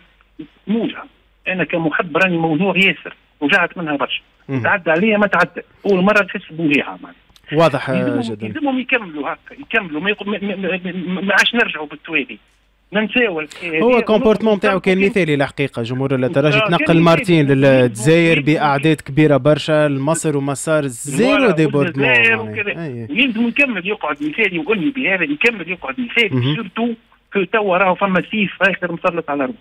Speaker 5: موجعة. انا كمحب راني موجوع ياسر، وجعت منها برشا، تعدى عليا ما تعدى، اول مرة نحس بوجيعه معناها.
Speaker 2: واضح جدا.
Speaker 5: يلزمهم يكملوا هكا، يكملوا ما, يق... ما, ما, ما عادش نرجعوا بالتوالي، ننساو.
Speaker 2: هو comportement تاعو كان مثالي الحقيقة، جمهور الترجي تنقل مرتين للجزائر باعداد كبيرة برشا، لمصر ومسار zéro débordement.
Speaker 5: يلزم يكمل يقعد مثالي، واني بهذا يكمل يقعد مثالي، surtout que توا راهو فما سيف اخر مسلط على الارض.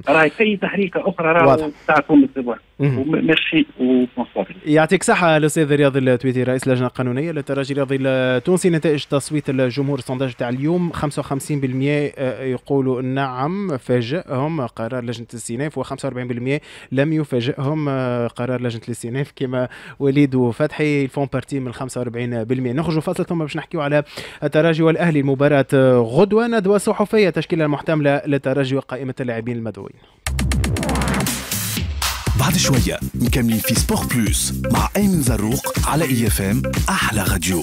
Speaker 5: راهي اي تحريكه اخرى راهو تعرفون الزبون. merci و bonsoir.
Speaker 2: يعطيك صحة الاستاذ رياض التويتي رئيس اللجنة القانونية للترجي الرياضي التونسي. نتائج تصويت الجمهور ال sondage تاع اليوم خمسة وخمسين بالمئة يقولوا نعم فاجئهم قرار لجنة الاستئناف، وخمسة وأربعين بالمئة لم يفاجئهم قرار لجنة الاستئناف كما وليد وفتحي font partie من خمسة وأربعين بالمئة. نخرجوا فاصل ثم باش نحكيو على الترجي والاهلي المباراة غدوه، ندوه صحفية تشكيله المحتملة للترجي وقائمة اللاعبين المدعوين.
Speaker 1: بعد شوية مكملين في Sport Plus مع أيمن زروق على IFM أحلى راديو.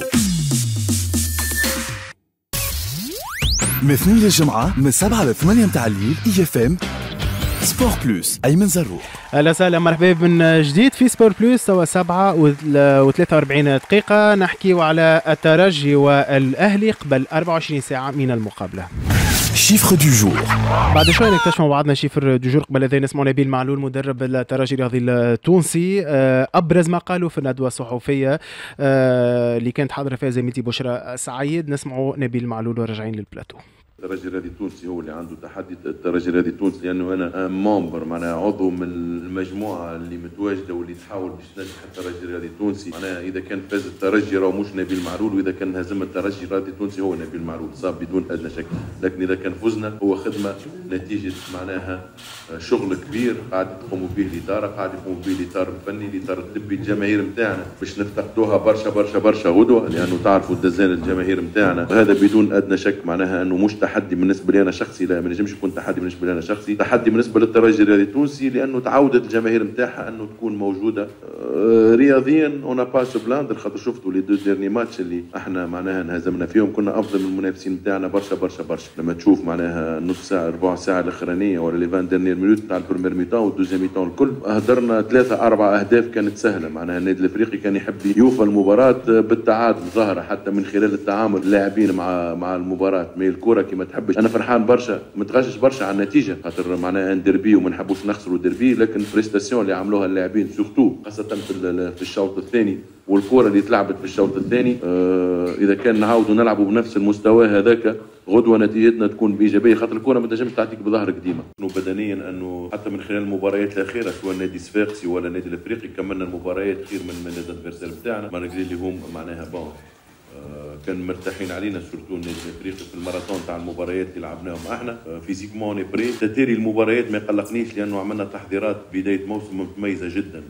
Speaker 1: من اثنين للجمعة من سبعة ل ثمانية متاع الليل IFM Sport Plus أيمن زروق.
Speaker 2: أهلا وسهلا مرحبا من جديد في Sport Plus، توا سبعة وثلاثة وأربعين دقيقة نحكيو على الترجي والأهلي قبل أربعة وعشرين ساعة من المقابلة.
Speaker 1: chiffre du jour.
Speaker 2: بعد شوي نكتشف مع بعضنا chiffre du jour. قبل هذا نسمع نبيل معلول مدرب الترجي الرياضي التونسي، ابرز ما قالوا في الندوة الصحفية اللي كانت حاضره فيها زميلتي بشرى سعيد. نسمعوا نبيل معلول وراجعين للبلاتو.
Speaker 6: الترجي الرياضي التونسي هو اللي عنده تحدي. الترجي الرياضي التونسي لانه انا membre، معناها عضو من المجموعة اللي متواجدة واللي تحاول باش تنجح الترجي الرياضي التونسي. معناها اذا كان فاز الترجي راهو مش نبيل معلول، واذا كان هزم الترجي الرياضي التونسي هو نبيل معلول، صاب بدون ادنى شك. لكن اذا كان فزنا هو خدمة نتيجة معناها شغل كبير قاعد تقوموا به الادارة، قاعد يقوموا به الاطار الفني، الاطار الطبي، الجماهير نتاعنا باش نفتقدوها برشا برشا برشا غدوه، لانه تعرفوا الدزان الجماهير نتاعنا. هذا بدون ادنى شك معناها انه مش تحدي بالنسبة لي انا شخصي، لا ما نجمش يكون تحدي بالنسبة لي انا شخصي، تحدي بالنسبة للترجي الرياضي التونسي لانه تعودت الجماهير نتاعها انه تكون موجودة. رياضيا on n'a pas à se plaindre، خاطر شفتوا les deux derniers matchs اللي احنا معناها انهزمنا فيهم كنا افضل من المنافسين نتاعنا برشا برشا برشا. لما تشوف معناها نص ساعة ربع ساعة الاخرانية ولا les vingt dernières minutes تاع ال première mi-temps وال deuxième mi-temps الكل هدرنا ثلاثة اربعة اهداف كانت سهلة. معناها النادي الافريقي كان يحب يوفى المباراة بالتعادل ظاهره حتى من خلال التعامل اللاعبين مع مع المباراة، mais الكره كما تحبش. انا فرحان برشا، متغشش برشا على النتيجة خاطر معناها un derby وما نحبوش نخسروا ديربي، لكن prestation اللي عملوها اللاعبين surtout خاصة في في الشوط الثاني والكره اللي تلعبت في الشوط الثاني، آه اذا كان نعاودوا نلعبوا بنفس المستوى هذاك غدوه نتيجتنا تكون بايجابية، خاطر الكره ما تنجمش تعطيك بظهرك ديما. انه بدنيا انه حتى من خلال المباريات الاخيرة سواء النادي الصفاقسي ولا النادي الافريقي كملنا المباريات خير من من ال adversaires نتاعنا، malgré اللي هم معناها bon كان مرتاحين علينا surtout النادي الافريقي في الماراثون تاع المباريات اللي لعبناهم احنا. physiquement on est prêt. تتالي المباريات ما يقلقنيش لانه عملنا تحضيرات بداية موسم متميزة جدا.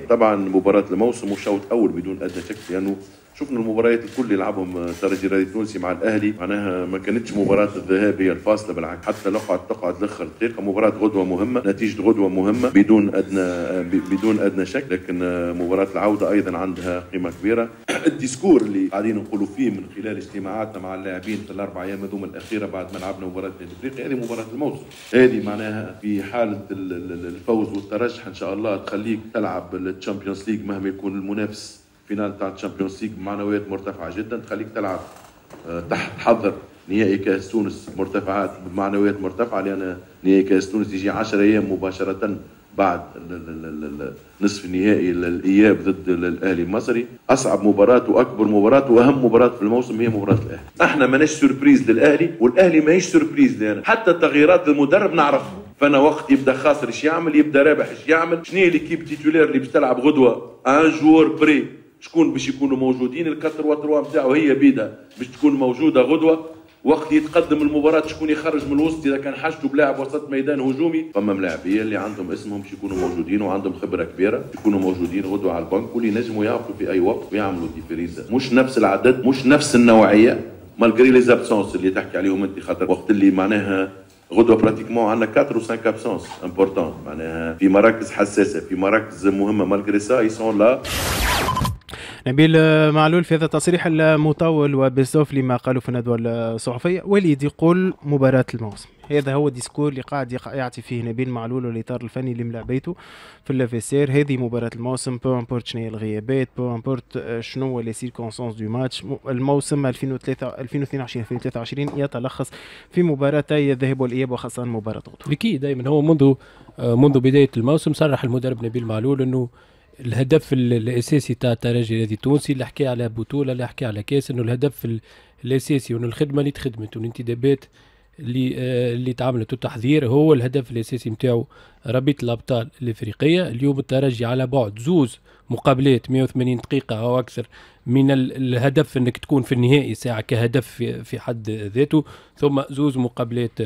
Speaker 6: طبعا مباراة الموسم وشوط اول بدون ادنى شك، لانه شفنا المباريات الكل اللي لعبهم الترجي الرياضي التونسي مع الاهلي معناها ما كانتش مباراة الذهاب هي الفاصلة، بالعكس حتى نقعد تقعد لاخر دقيقة. مباراة غدوه مهمة، نتيجة غدوه مهمة بدون ادنى بدون ادنى شك، لكن مباراة العودة ايضا عندها قيمة كبيرة. ال discours اللي قاعدين نقولوا فيه من خلال اجتماعاتنا مع اللاعبين في الاربع ايام هذوما الاخيرة بعد ما لعبنا مباراة النادي الافريقي، هذه مباراة الموسم، هذه معناها في حاله الفوز والترشح ان شاء الله تخليك تلعب ال Champions League مهما يكون المنافس، finale تاع ال Champions League بمعنويات مرتفعة جدا، تخليك تلعب تحت تحضر نهائي كاس تونس مرتفعات بمعنويات مرتفعة، لان نهائي كاس تونس يجي عشرة ايام مباشرة بعد نصف النهائي الاياب ضد الاهلي المصري. اصعب مباراة واكبر مباراة واهم مباراة في الموسم هي مباراة الاهلي. احنا ماناش surprise للاهلي والاهلي ماهيش surprise لنا، حتى تغييرات المدرب نعرفها. فانا وقت يبدا خاسر ايش يعمل، يبدا رابح ايش يعمل، شنو هي l'équipe titulaire اللي باش تلعب غدوه un jour près، شكون باش يكونوا موجودين، ال quatre trois trois نتاعو هي بيدا باش تكون موجودة غدوه. وقت يتقدم المباراة شكون يخرج من الوسط اذا كان حاجته بلاعب وسط ميدان هجومي. فما ملاعبيه اللي عندهم اسمهم باش يكونوا موجودين وعندهم خبره كبيرة يكونوا موجودين غدوه على البنك واللي ينجموا يهبطوا في اي وقت ويعملوا différence. مش نفس العدد، مش نفس النوعية، malgré les absences اللي تحكي عليهم انت، خاطر وقت اللي معناها غدوه pratiquement عندنا أربعة و خمسة absences importantes، معناها في مراكز حساسة، في مراكز مهمة، malgré ça ils sont là.
Speaker 2: نبيل معلول في هذا التصريح المطول وبالزوف لما قالوا في الندوة الصحفية، وليد يقول مباراة الموسم، هذا هو ال discours اللي قاعد يعطي فيه نبيل معلول والاطار الفني اللي ملعبيته في ال vestiaire. هذه مباراة الموسم، peu importe شنو هي الغيابات، peu importe شنو les circonstances du match. الموسم ألفين واثنين وعشرين ألفين وثلاثة وعشرين يتلخص في مباراتي الذهاب والاياب وخاصة مباراة غدوه.
Speaker 4: اكيد دائما هو منذ منذ بداية الموسم صرح المدرب نبيل معلول انه الهدف الاساسي تاع الترجي الرياضي التونسي، اللي حكى على بطوله اللي حكى على كاس، انه الهدف الاساسي وانه الخدمة اللي تخدمت والانتدابات اللي اللي تعملت والتحضير هو الهدف الاساسي نتاعو رابطه الابطال الافريقية. اليوم الترجي على بعد زوز مقابلات مئة وثمانين دقيقة او اكثر من الهدف انك تكون في النهائي ساعة كهدف في حد ذاته، ثم زوز مقابلات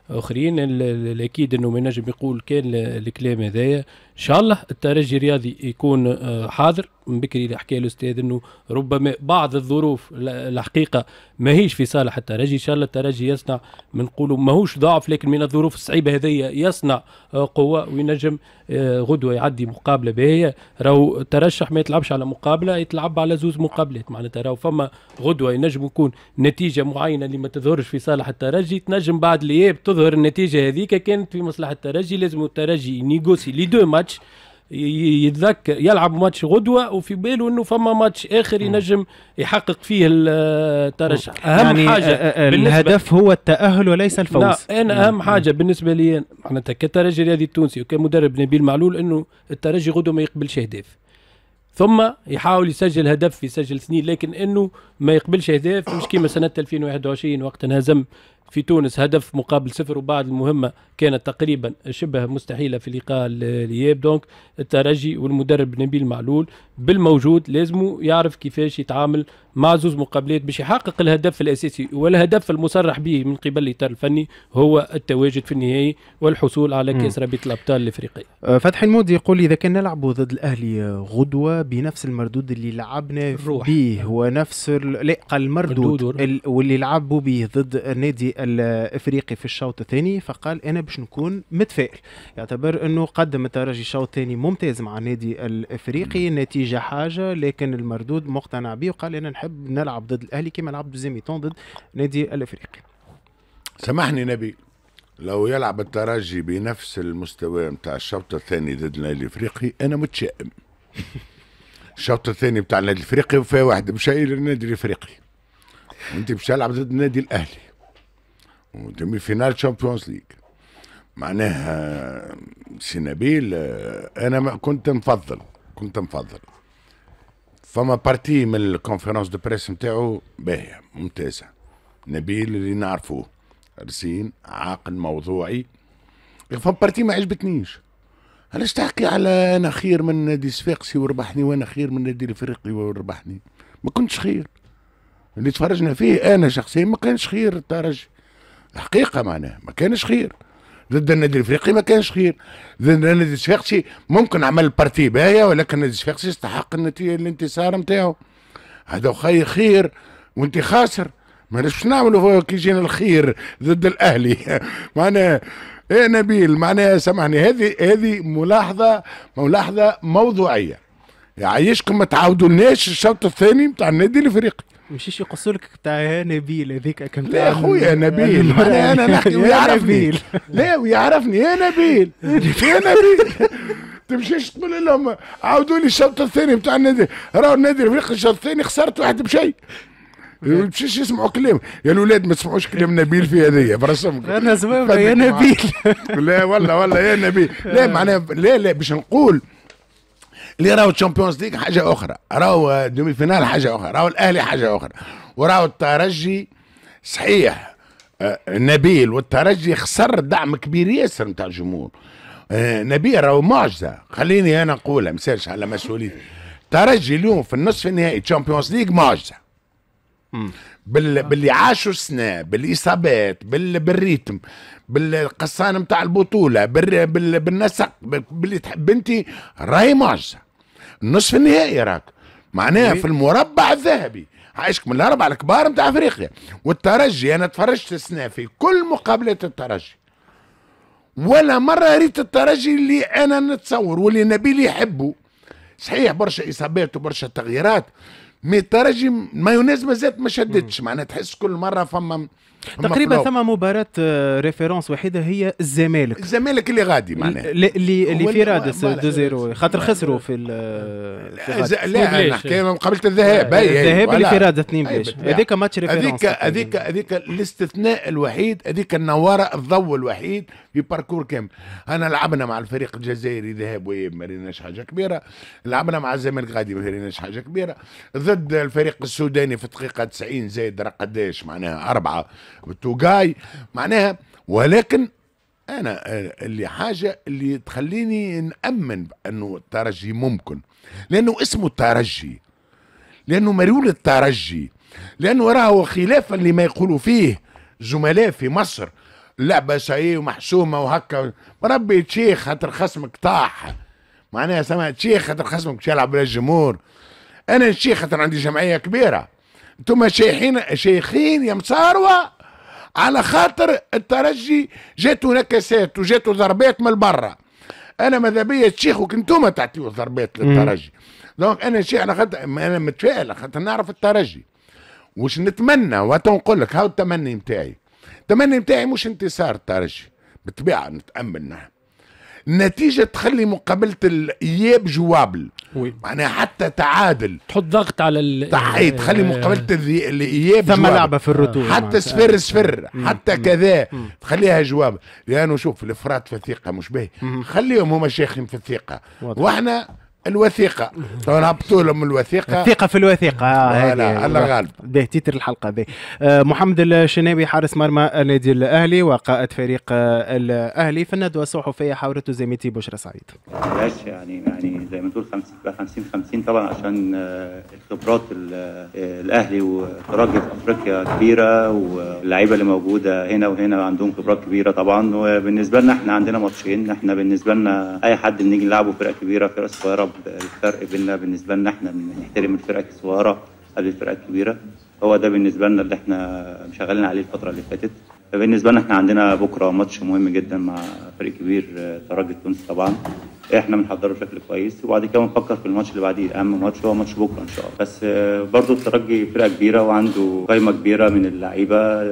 Speaker 4: اخرين. الاكيد انه ما ينجم يقول كان الكلام هذايا. ان شاء الله الترجي الرياضي يكون حاضر. من بكري اللي حكى الاستاذ انه ربما بعض الظروف الحقيقة ماهيش في صالح الترجي. ان شاء الله الترجي يصنع، من نقولوا ماهوش ضعف، لكن من الظروف الصعيبه هذيا يصنع قوة وينجم غدوه يعدي مقابله باهيه. راهو الترشح ما يتلعبش على مقابله، يتلعب على زوز مقابلات، معناتها راهو فما غدوه ينجم يكون نتيجة معينة اللي ما تظهرش في صالح الترجي، تنجم بعد الاياب تظهر النتيجة هذيك كانت في مصلحة الترجي. لازم الترجي négocier les deux matchs، يتذكر يلعب ماتش غدوه وفي باله انه فما ماتش اخر ينجم يحقق فيه الترشح.
Speaker 2: اهم يعني حاجة الهدف هو التاهل وليس الفوز.
Speaker 4: لا انا اهم حاجة بالنسبة لي معناتها كترجي الرياضي التونسي وكمدرب نبيل معلول انه الترجي غدوه ما يقبلش اهداف، ثم يحاول يسجل هدف يسجل اثنين، لكن انه ما يقبلش اهداف مش كيما سنة ألفين وواحد وعشرين وقت انهزم في تونس هدف مقابل صفر، وبعد المهمة كانت تقريبا شبه مستحيلة في لقاء الاياب. donc الترجي والمدرب نبيل معلول بالموجود لازم يعرف كيفاش يتعامل مع زوز مقابلات باش يحقق الهدف الاساسي والهدف المصرح به من قبل الاطار الفني هو التواجد في النهائي والحصول على كاس رابطه الابطال الافريقية.
Speaker 2: فتحي المودي يقول اذا كان نلعبوا ضد الاهلي غدوه بنفس المردود اللي لعبنا به ونفس ال... لا قال المردود ال... واللي لعبوا به ضد النادي الافريقي في الشوط الثاني، فقال انا باش نكون متفائل. يعتبر انه قدم الترجي الشوط الثاني ممتاز مع النادي الافريقي، النتيجة حاجة لكن المردود مقتنع به، وقال انا نحب نلعب ضد الاهلي كما لعب deuxième mi-temps ضد النادي الافريقي.
Speaker 3: سامحني نبيل، لو يلعب الترجي بنفس المستوى نتاع الشوط الثاني ضد النادي الافريقي انا متشائم. الشوط الثاني نتاع النادي الافريقي وفيها واحد مشى للنادي الافريقي، وانت باش تلعب ضد النادي الاهلي و demi-finale Champions League. معناها سي نبيل انا ما كنت نفضل كنت نفضل فما partie من ال conférence de presse نتاعو باهيه ممتازة. نبيل اللي نعرفوه رزين عاقل موضوعي، فما partie ما عجبتنيش. علاش تحكي على انا خير من نادي صفاقسي وربحني وانا خير من نادي الافريقي وربحني؟ ما كنتش خير. اللي تفرجنا فيه انا شخصيا ما كانش خير الترجي الحقيقة، معناها ما كانش خير ضد النادي الافريقي، ما كانش خير ضد النادي الصفاقسي. ممكن عمل partie باهيه ولكن النادي الصفاقسي استحق النتيجة الانتصار نتاعو. هذا خير خير وانت خاسر، ما باش نعملوا كي يجينا الخير ضد الاهلي. معناها ايه نبيل، معناها سامحني هذه هذه ملاحظة ملاحظة موضوعية. يعيشكم ما تعاودولناش الشوط الثاني نتاع النادي الافريقي.
Speaker 2: مشيش يقصوا لك بتاع يا نبيل هذيك.
Speaker 3: لا يا خويا نبيل، انا انا نحكي ويعرفني. لا ويعرفني يا نبيل يا نبيل. تمشيش تقول لهم عاودوا لي الشوط الثاني بتاع النادي، راهو النادي الافريقي الشوط الثاني خسرت واحد بشيء. ما تمشيش يسمعوا كلام يا الاولاد، ما تسمعوش كلام نبيل في هذيا برسمك.
Speaker 2: انا زويمه يا نبيل.
Speaker 3: لا والله والله يا نبيل، لا معناها لا لا باش نقول اللي راهو Champions League حاجة اخرى، راهو demi-finale حاجة اخرى، راهو الاهلي حاجة اخرى، وراهو الترجي. صحيح نبيل والترجي خسر دعم كبير ياسر نتاع الجمهور. نبيل راهو معجزه، خليني انا نقولها مسالش على مسؤوليتي. الترجي اليوم في النصف النهائي Champions League معجزه. بال... باللي عاشوا السنة، بالاصابات، بال... بال rythme، بالقصان نتاع البطولة، بال... بال... بالنسق، باللي تحب انت، راهي معجزه. النصف النهائي راك معناها في المربع الذهبي، عايشك من الاربعة الكبار نتاع افريقيا. والترجي انا تفرجت السنة في كل مقابلات الترجي، ولا مرة ريت الترجي اللي انا نتصور واللي نبيل يحبه. صحيح برشا اصابات وبرشا تغييرات، mais الترجي مايونيز مازالت ما شدتش، معناها تحس كل مرة فما
Speaker 2: تقريبا ثم مباراة référence وحيده هي الزمالك.
Speaker 3: الزمالك اللي غادي معناها
Speaker 2: اللي اللي في رادس اثنين صفر خاطر خسروا في
Speaker 3: لا لا نحكي مقابله الذهاب،
Speaker 2: الذهاب اللي في رادس اثنين بلاش، هذيك match référence.
Speaker 3: هذيك هذيك هذيك الاستثناء الوحيد، هذيك النواره الضوء الوحيد في parcours كامل. انا لعبنا مع الفريق الجزائري ذهاب وإياب ما ريناش حاجة كبيرة، لعبنا مع الزمالك غادي ما ريناش حاجة كبيرة، ضد الفريق السوداني في الدقيقة تسعين زايد قداش معناها اربعة توغاي معناها. ولكن انا اللي حاجة اللي تخليني نامن بانه الترجي ممكن، لانه اسمه الترجي، لانه مريول الترجي، لانه راهو خلافا لما يقولوا فيه زملاء في مصر اللعبة ساييه ومحسومه وهكا. ربي تشيخ خاطر خصمك طاح، معناها سمع تشيخ خاطر خصمك باش يلعب بلا الجمهور. انا نشيخ خاطر عندي جمعية كبيرة، انتم شيخين شيخين يا مصاروه على خاطر الترجي جاتو نكسات وجاتو ضربات من برا. انا ماذا بيا تشيخوا انتم تعطيو ضربات للترجي. donc انا شيخ على خاطر انا متفائل خاطر نعرف الترجي وش نتمنى. وتنقول لك هاو التمني نتاعي، التمني نتاعي مش انتصار الترجي بالطبيعة نتامل نحن، النتيجة تخلي مقابله الاياب jouable، معناها حتى تعادل
Speaker 4: تحط ضغط على ال
Speaker 3: تحية تخلي مقابله الاياب
Speaker 2: ثم لعبه في ال retour،
Speaker 3: حتى صفر صفر حتى كذا تخليها jouable، لانه شوف الافراط في الثقة مش باهي، خليهم هما شيخين في الثقة واحنا الوثيقة نهبطوا لهم الوثيقة،
Speaker 2: الثقة في الوثيقة.
Speaker 3: آه لا الله غالب.
Speaker 2: به titre الحلقة به. آه محمد الشناوي حارس مرمى النادي الاهلي وقائد فريق آه الاهلي في الندوة الصحفية حاورته زميلتي بشرى سعيد.
Speaker 7: علاش يعني يعني زي ما تقول خمسين خمسين طبعا، عشان الخبرات الاهلي والترجي في افريقيا كبيرة، واللعيبة اللي موجودة هنا وهنا عندهم خبرات كبيرة طبعا. وبالنسبة لنا احنا عندنا ماتشين، احنا بالنسبة لنا اي حد بنيجي نلعبه فرقه كبيرة فرقه صغيرة، الفرق بيننا بالنسبة لنا احنا بنحترم الفرق الصغيرة قبل الفرق الكبيرة، هو ده بالنسبة لنا اللي احنا شغالين عليه الفترة اللي فاتت. فبالنسبه لنا احنا عندنا بكره ماتش مهم جدا مع فريق كبير ترجي التونسي طبعا، احنا بنحضره بشكل كويس، وبعد كده بنفكر في الماتش اللي بعديه. اهم ماتش هو ماتش بكره ان شاء الله. بس برضو الترجي فرقه كبيرة وعنده قائمة كبيرة من اللعيبة،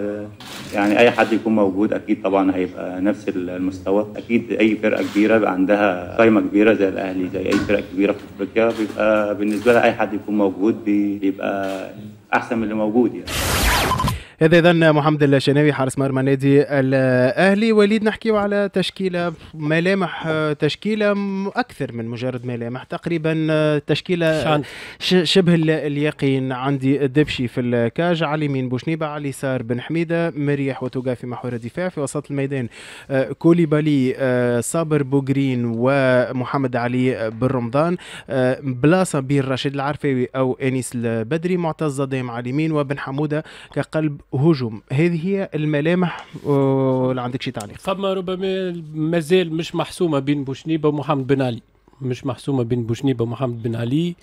Speaker 7: يعني اي حد يكون موجود اكيد طبعا هيبقى نفس المستوى. اكيد اي فرقه كبيرة بيبقى عندها قائمة كبيرة زي الاهلي زي اي فرقه كبيرة في افريقيا، بيبقى بالنسبة لها اي حد يكون موجود بيبقى احسن من اللي موجود يعني.
Speaker 2: هذا اذا محمد الشناوي حارس مرمى نادي الاهلي. وليد، نحكيو على تشكيله، ملامح تشكيله اكثر من مجرد ملامح، تقريبا تشكيله شبه اليقين. عندي الدبشي في ال cage، على اليمين بوشنيبه، على اليسار بن حميده، مريح وتوغا في محور الدفاع، في وسط الميدان كوليبالي، صابر بوغرين ومحمد علي بن رمضان، بلاصة بين رشيد العرفاوي او انيس البدري، معتز صدام على اليمين، وبن حموده كقلب هجوم. هذه هي الملامح، ولا عندك شي تعليق؟
Speaker 4: فما ربما مازال مش محسومة بين بوشنيبه ومحمد بن علي، مش محسومة بين بوشنيبه ومحمد بن علي.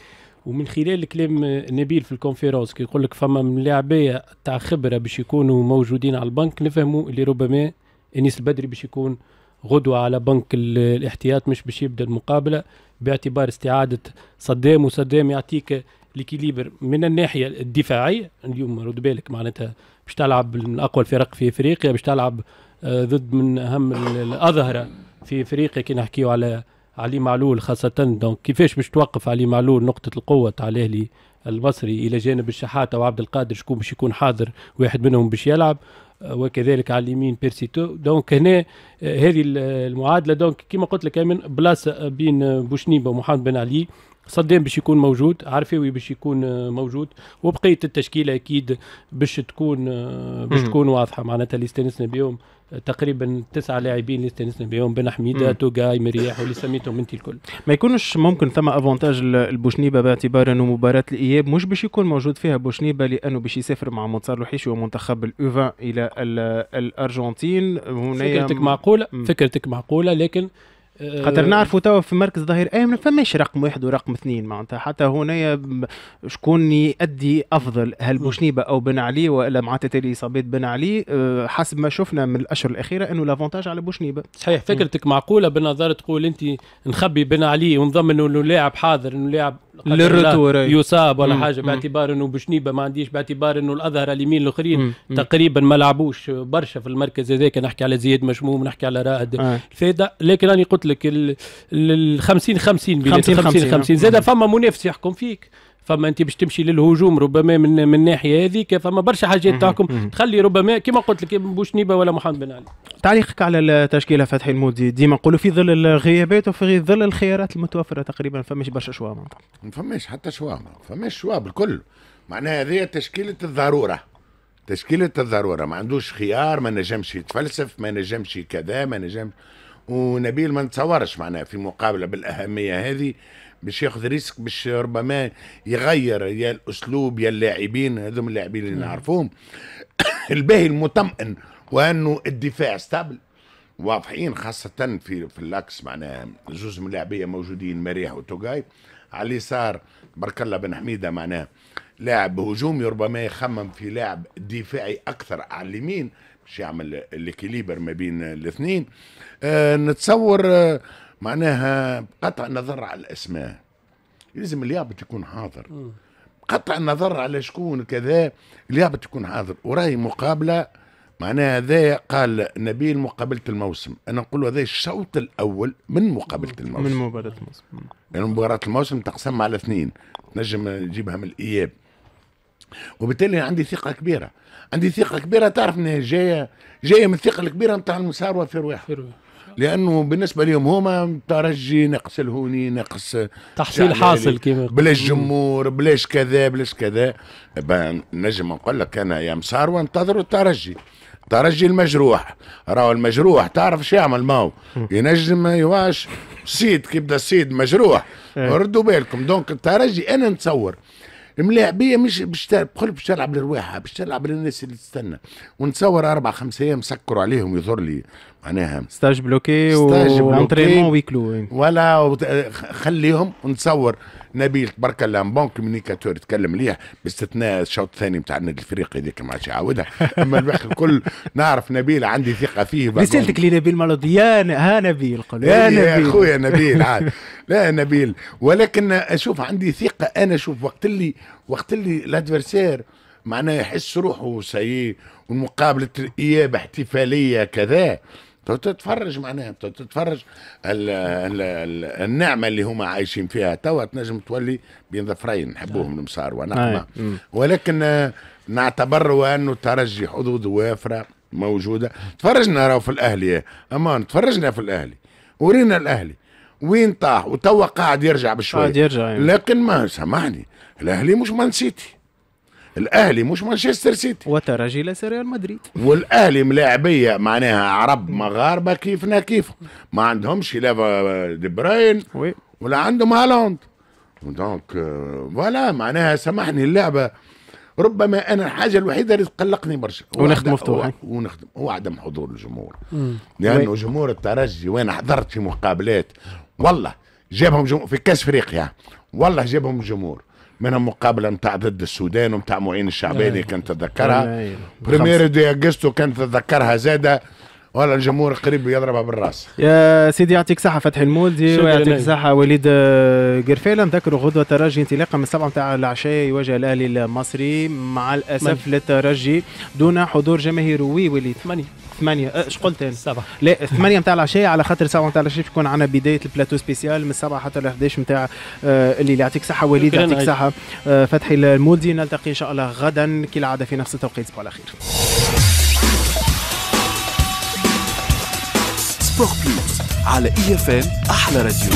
Speaker 4: ومن خلال كلام نبيل في ال conférence كي يقول لك فما من لاعبيه تاع خبره باش يكونوا موجودين على البنك، نفهموا اللي ربما انيس البدري باش يكون غدوه على بنك الاحتياط، مش باش يبدا المقابلة، باعتبار استعاده صدام، وصدام يعطيك l'équilibre من الناحية الدفاعية. اليوم رد بالك معناتها باش تلعب من اقوى الفرق في افريقيا، باش تلعب ضد من اهم الاظهرة في افريقيا كي نحكيو على علي معلول خاصة. donc كيفاش باش توقف علي معلول نقطة القوة تاع الاهلي المصري الى جانب الشحاته وعبد القادر، شكون باش يكون حاضر، واحد منهم باش يلعب، وكذلك على اليمين بيرسيتو. donc هنا هذه المعادلة. donc كما قلت لك من بلاصة بين بوشنيبه ومحمد بن علي، صدام باش يكون موجود، عرفاوي باش يكون موجود، وبقية التشكيلة اكيد باش تكون باش تكون واضحة. معناتها اللي استانسنا بهم تقريبا تسعة لاعبين اللي استانسنا بهم، بن حميده، توغاي، مرياح، واللي سميتهم انت الكل.
Speaker 2: ما يكونش ممكن ثم avantage البوشنيبه باعتبار انه مباراة الاياب مش باش يكون موجود فيها بوشنيبه، لانه باش يسافر مع منتصر الوحيشي ومنتخب ال U vingt الى الارجنتين.
Speaker 4: هنا فكرتك معقولة، م. فكرتك معقولة، لكن
Speaker 2: خاطر نعرفوا توا في مركز ظهير ايمن ما فماش رقم واحد ورقم اثنين، معناتها حتى هنا شكون يؤدي افضل، هل بوشنيبه او بن علي، والا مع تتالي اصابات بن علي؟ حسب ما شفنا من الاشهر الاخيرة انه l'avantage على بوشنيبه.
Speaker 4: صحيح فكرتك معقولة بالنظر، تقول انت نخبي بن علي ونضمن انه لاعب حاضر، انه لاعب
Speaker 2: لل retour
Speaker 4: يصاب ولا حاجة، باعتبار انه بوشنيبه ما عنديش، باعتبار انه الاظهرة اليمين الاخرين تقريبا ما لعبوش برشا في المركز هذاك. نحكي على زياد مشموم، نحكي على رائد الفايدة، لكن راني قلت لك ال خمسين خمسين خمسين خمسين زاد فما منافس يحكم فيك، فما انت باش تمشي للهجوم ربما من من الناحية هذيك، فما برشا حاجات تحكم تخلي ربما كما قلت لك بوشنيبه ولا محمد بن علي.
Speaker 2: تعليقك على التشكيلة فتحي المودي؟ ديما نقولوا في ظل الغيابات وفي ظل الخيارات المتوفرة تقريبا فماش برشا choix، معناتها
Speaker 3: ما فماش حتى choix، ما فماش choix بالكل. معناها هذه تشكيله الضرورة، تشكيله الضرورة، ما عندوش خيار، ما نجمش يتفلسف، ما نجمش كذا، ما نجمش. ونبيل ما نتصورش معناها في مقابله بالاهميه هذه باش ياخذ risque، باش ربما يغير يا الاسلوب يا اللاعبين، هذوم اللاعبين اللي نعرفوهم. الباهي المطمئن وانه الدفاع stable، واضحين خاصة في في l'axe، معناها زوز من اللاعبيه موجودين، مريح وتوغاي. على اليسار بارك الله بن حميده، معناها لاعب هجومي ربما يخمم في لاعب دفاعي اكثر على اليمين باش يعمل l'équilibre ما بين الاثنين. أه نتصور أه معناها بقطع النظر على الاسماء لازم اليابط يكون حاضر، بقطع النظر على شكون كذا، اليابط يكون حاضر. وراي مقابله معناها هذا قال نبيل مقابله الموسم، انا نقول هذا الشوط الاول من مقابله الموسم،
Speaker 2: من مباراة الموسم.
Speaker 3: لان مباراة الموسم تقسم على اثنين، تنجم تجيبها من الاياب. وبالتالي عندي ثقة كبيرة، عندي ثقة كبيرة تعرف انها جاية جاية من الثقة الكبيرة نتاع المساروه في رواحهم. لانه بالنسبة لهم هما ترجي ناقص الهوني ناقص
Speaker 4: تحصيل حاصل كيما
Speaker 3: بلاش جمهور بلاش كذا بلاش كذا. نجم نقول لك انا يا مساروه انتظروا الترجي، الترجي المجروح، راهو المجروح تعرف شو يعمل، ماهو ينجم يواش سيد كي يبدا السيد مجروح ردوا بالكم. donc الترجي انا نتصور الملاعبيه مش باش باش تلعب لرواحها، باش تلعب للناس اللي تستنى، ونتصور اربع خمس ايام سكروا عليهم يظهر لي معناها
Speaker 2: stage bloqué و entraînement huis clos
Speaker 3: ولا خليهم. ونتصور نبيل تبارك الله bon communicateur يتكلم مليح باستثناء الشوط الثاني نتاع النادي الافريقي هذيك ما عادش يعاودها، اما الباقي الكل نعرف نبيل عندي ثقة فيه.
Speaker 2: رسالتك لنبيل مالودي يا ها نبيل قل يا نبيل يا
Speaker 3: خويا نبيل عاد لا نبيل، ولكن شوف عندي ثقة انا. شوف وقت اللي وقت اللي l'adversaire معناه يحس روحه سيء ومقابله الاياب احتفالية كذا، تتفرج معناها تتفرج ال ال ال النعمة اللي هما عايشين فيها توا تنجم تولي بين ظفرين نحبوهم المسار ونقمه، ولكن نعتبر انه الترجي حظوظ وافرة موجودة. تفرجنا راهو في الاهلي امان، تفرجنا في الاهلي ورينا الاهلي وين طاح وتوا قاعد يرجع بشوية
Speaker 2: قاعد يرجع يعني.
Speaker 3: لكن ما سامحني الاهلي مش مان سيتي، الاهلي مش مانشستر سيتي،
Speaker 2: والترجي ليس ريال مدريد،
Speaker 3: والاهلي ملاعبيه معناها عرب مغاربة كيفنا كيف، ما عندهمش لا دي براين ولا عندهم هالاند. donc voilà معناها سامحني اللعبة ربما انا الحاجة الوحيدة اللي تقلقني برشا
Speaker 2: ونخدم مفتوح
Speaker 3: ونخدم هو عدم حضور الجمهور، لانه جمهور الترجي وين حضرت في مقابلات والله جابهم جمهور في كاس افريقيا، والله جابهم الجمهور، منهم مقابله نتاع ضد السودان ونتاع معين الشعباني كانت تتذكرها، primeiro de agosto كانت تتذكرها زاده، ولا الجمهور قريب يضربها بالراس.
Speaker 2: يا سيدي يعطيك صحة فتحي المولدي ويعطيك صحة وليد قرفالة. نذكروا غدوة ترجي انطلاقا من السبعة نتاع العشاء يواجه الأهلي المصري مع الأسف للترجي دون حضور جماهيري. وليد
Speaker 4: ثمانية
Speaker 2: ثمانية اش قلت انا؟
Speaker 4: سبعة
Speaker 2: لا ثمانية نتاع العشاء على خاطر سبعة نتاع العشاء يكون عندنا بداية ال plateau spécial من سبعة حتى ل إحداش نتاع الليل. يعطيك صحة وليد، يعطيك صحة فتحي المولدي. نلتقي إن شاء الله غدا كالعادة في نفس التوقيت. تصبحوا على خير.
Speaker 1: Sport Plus على اي اف ام احلى راديو.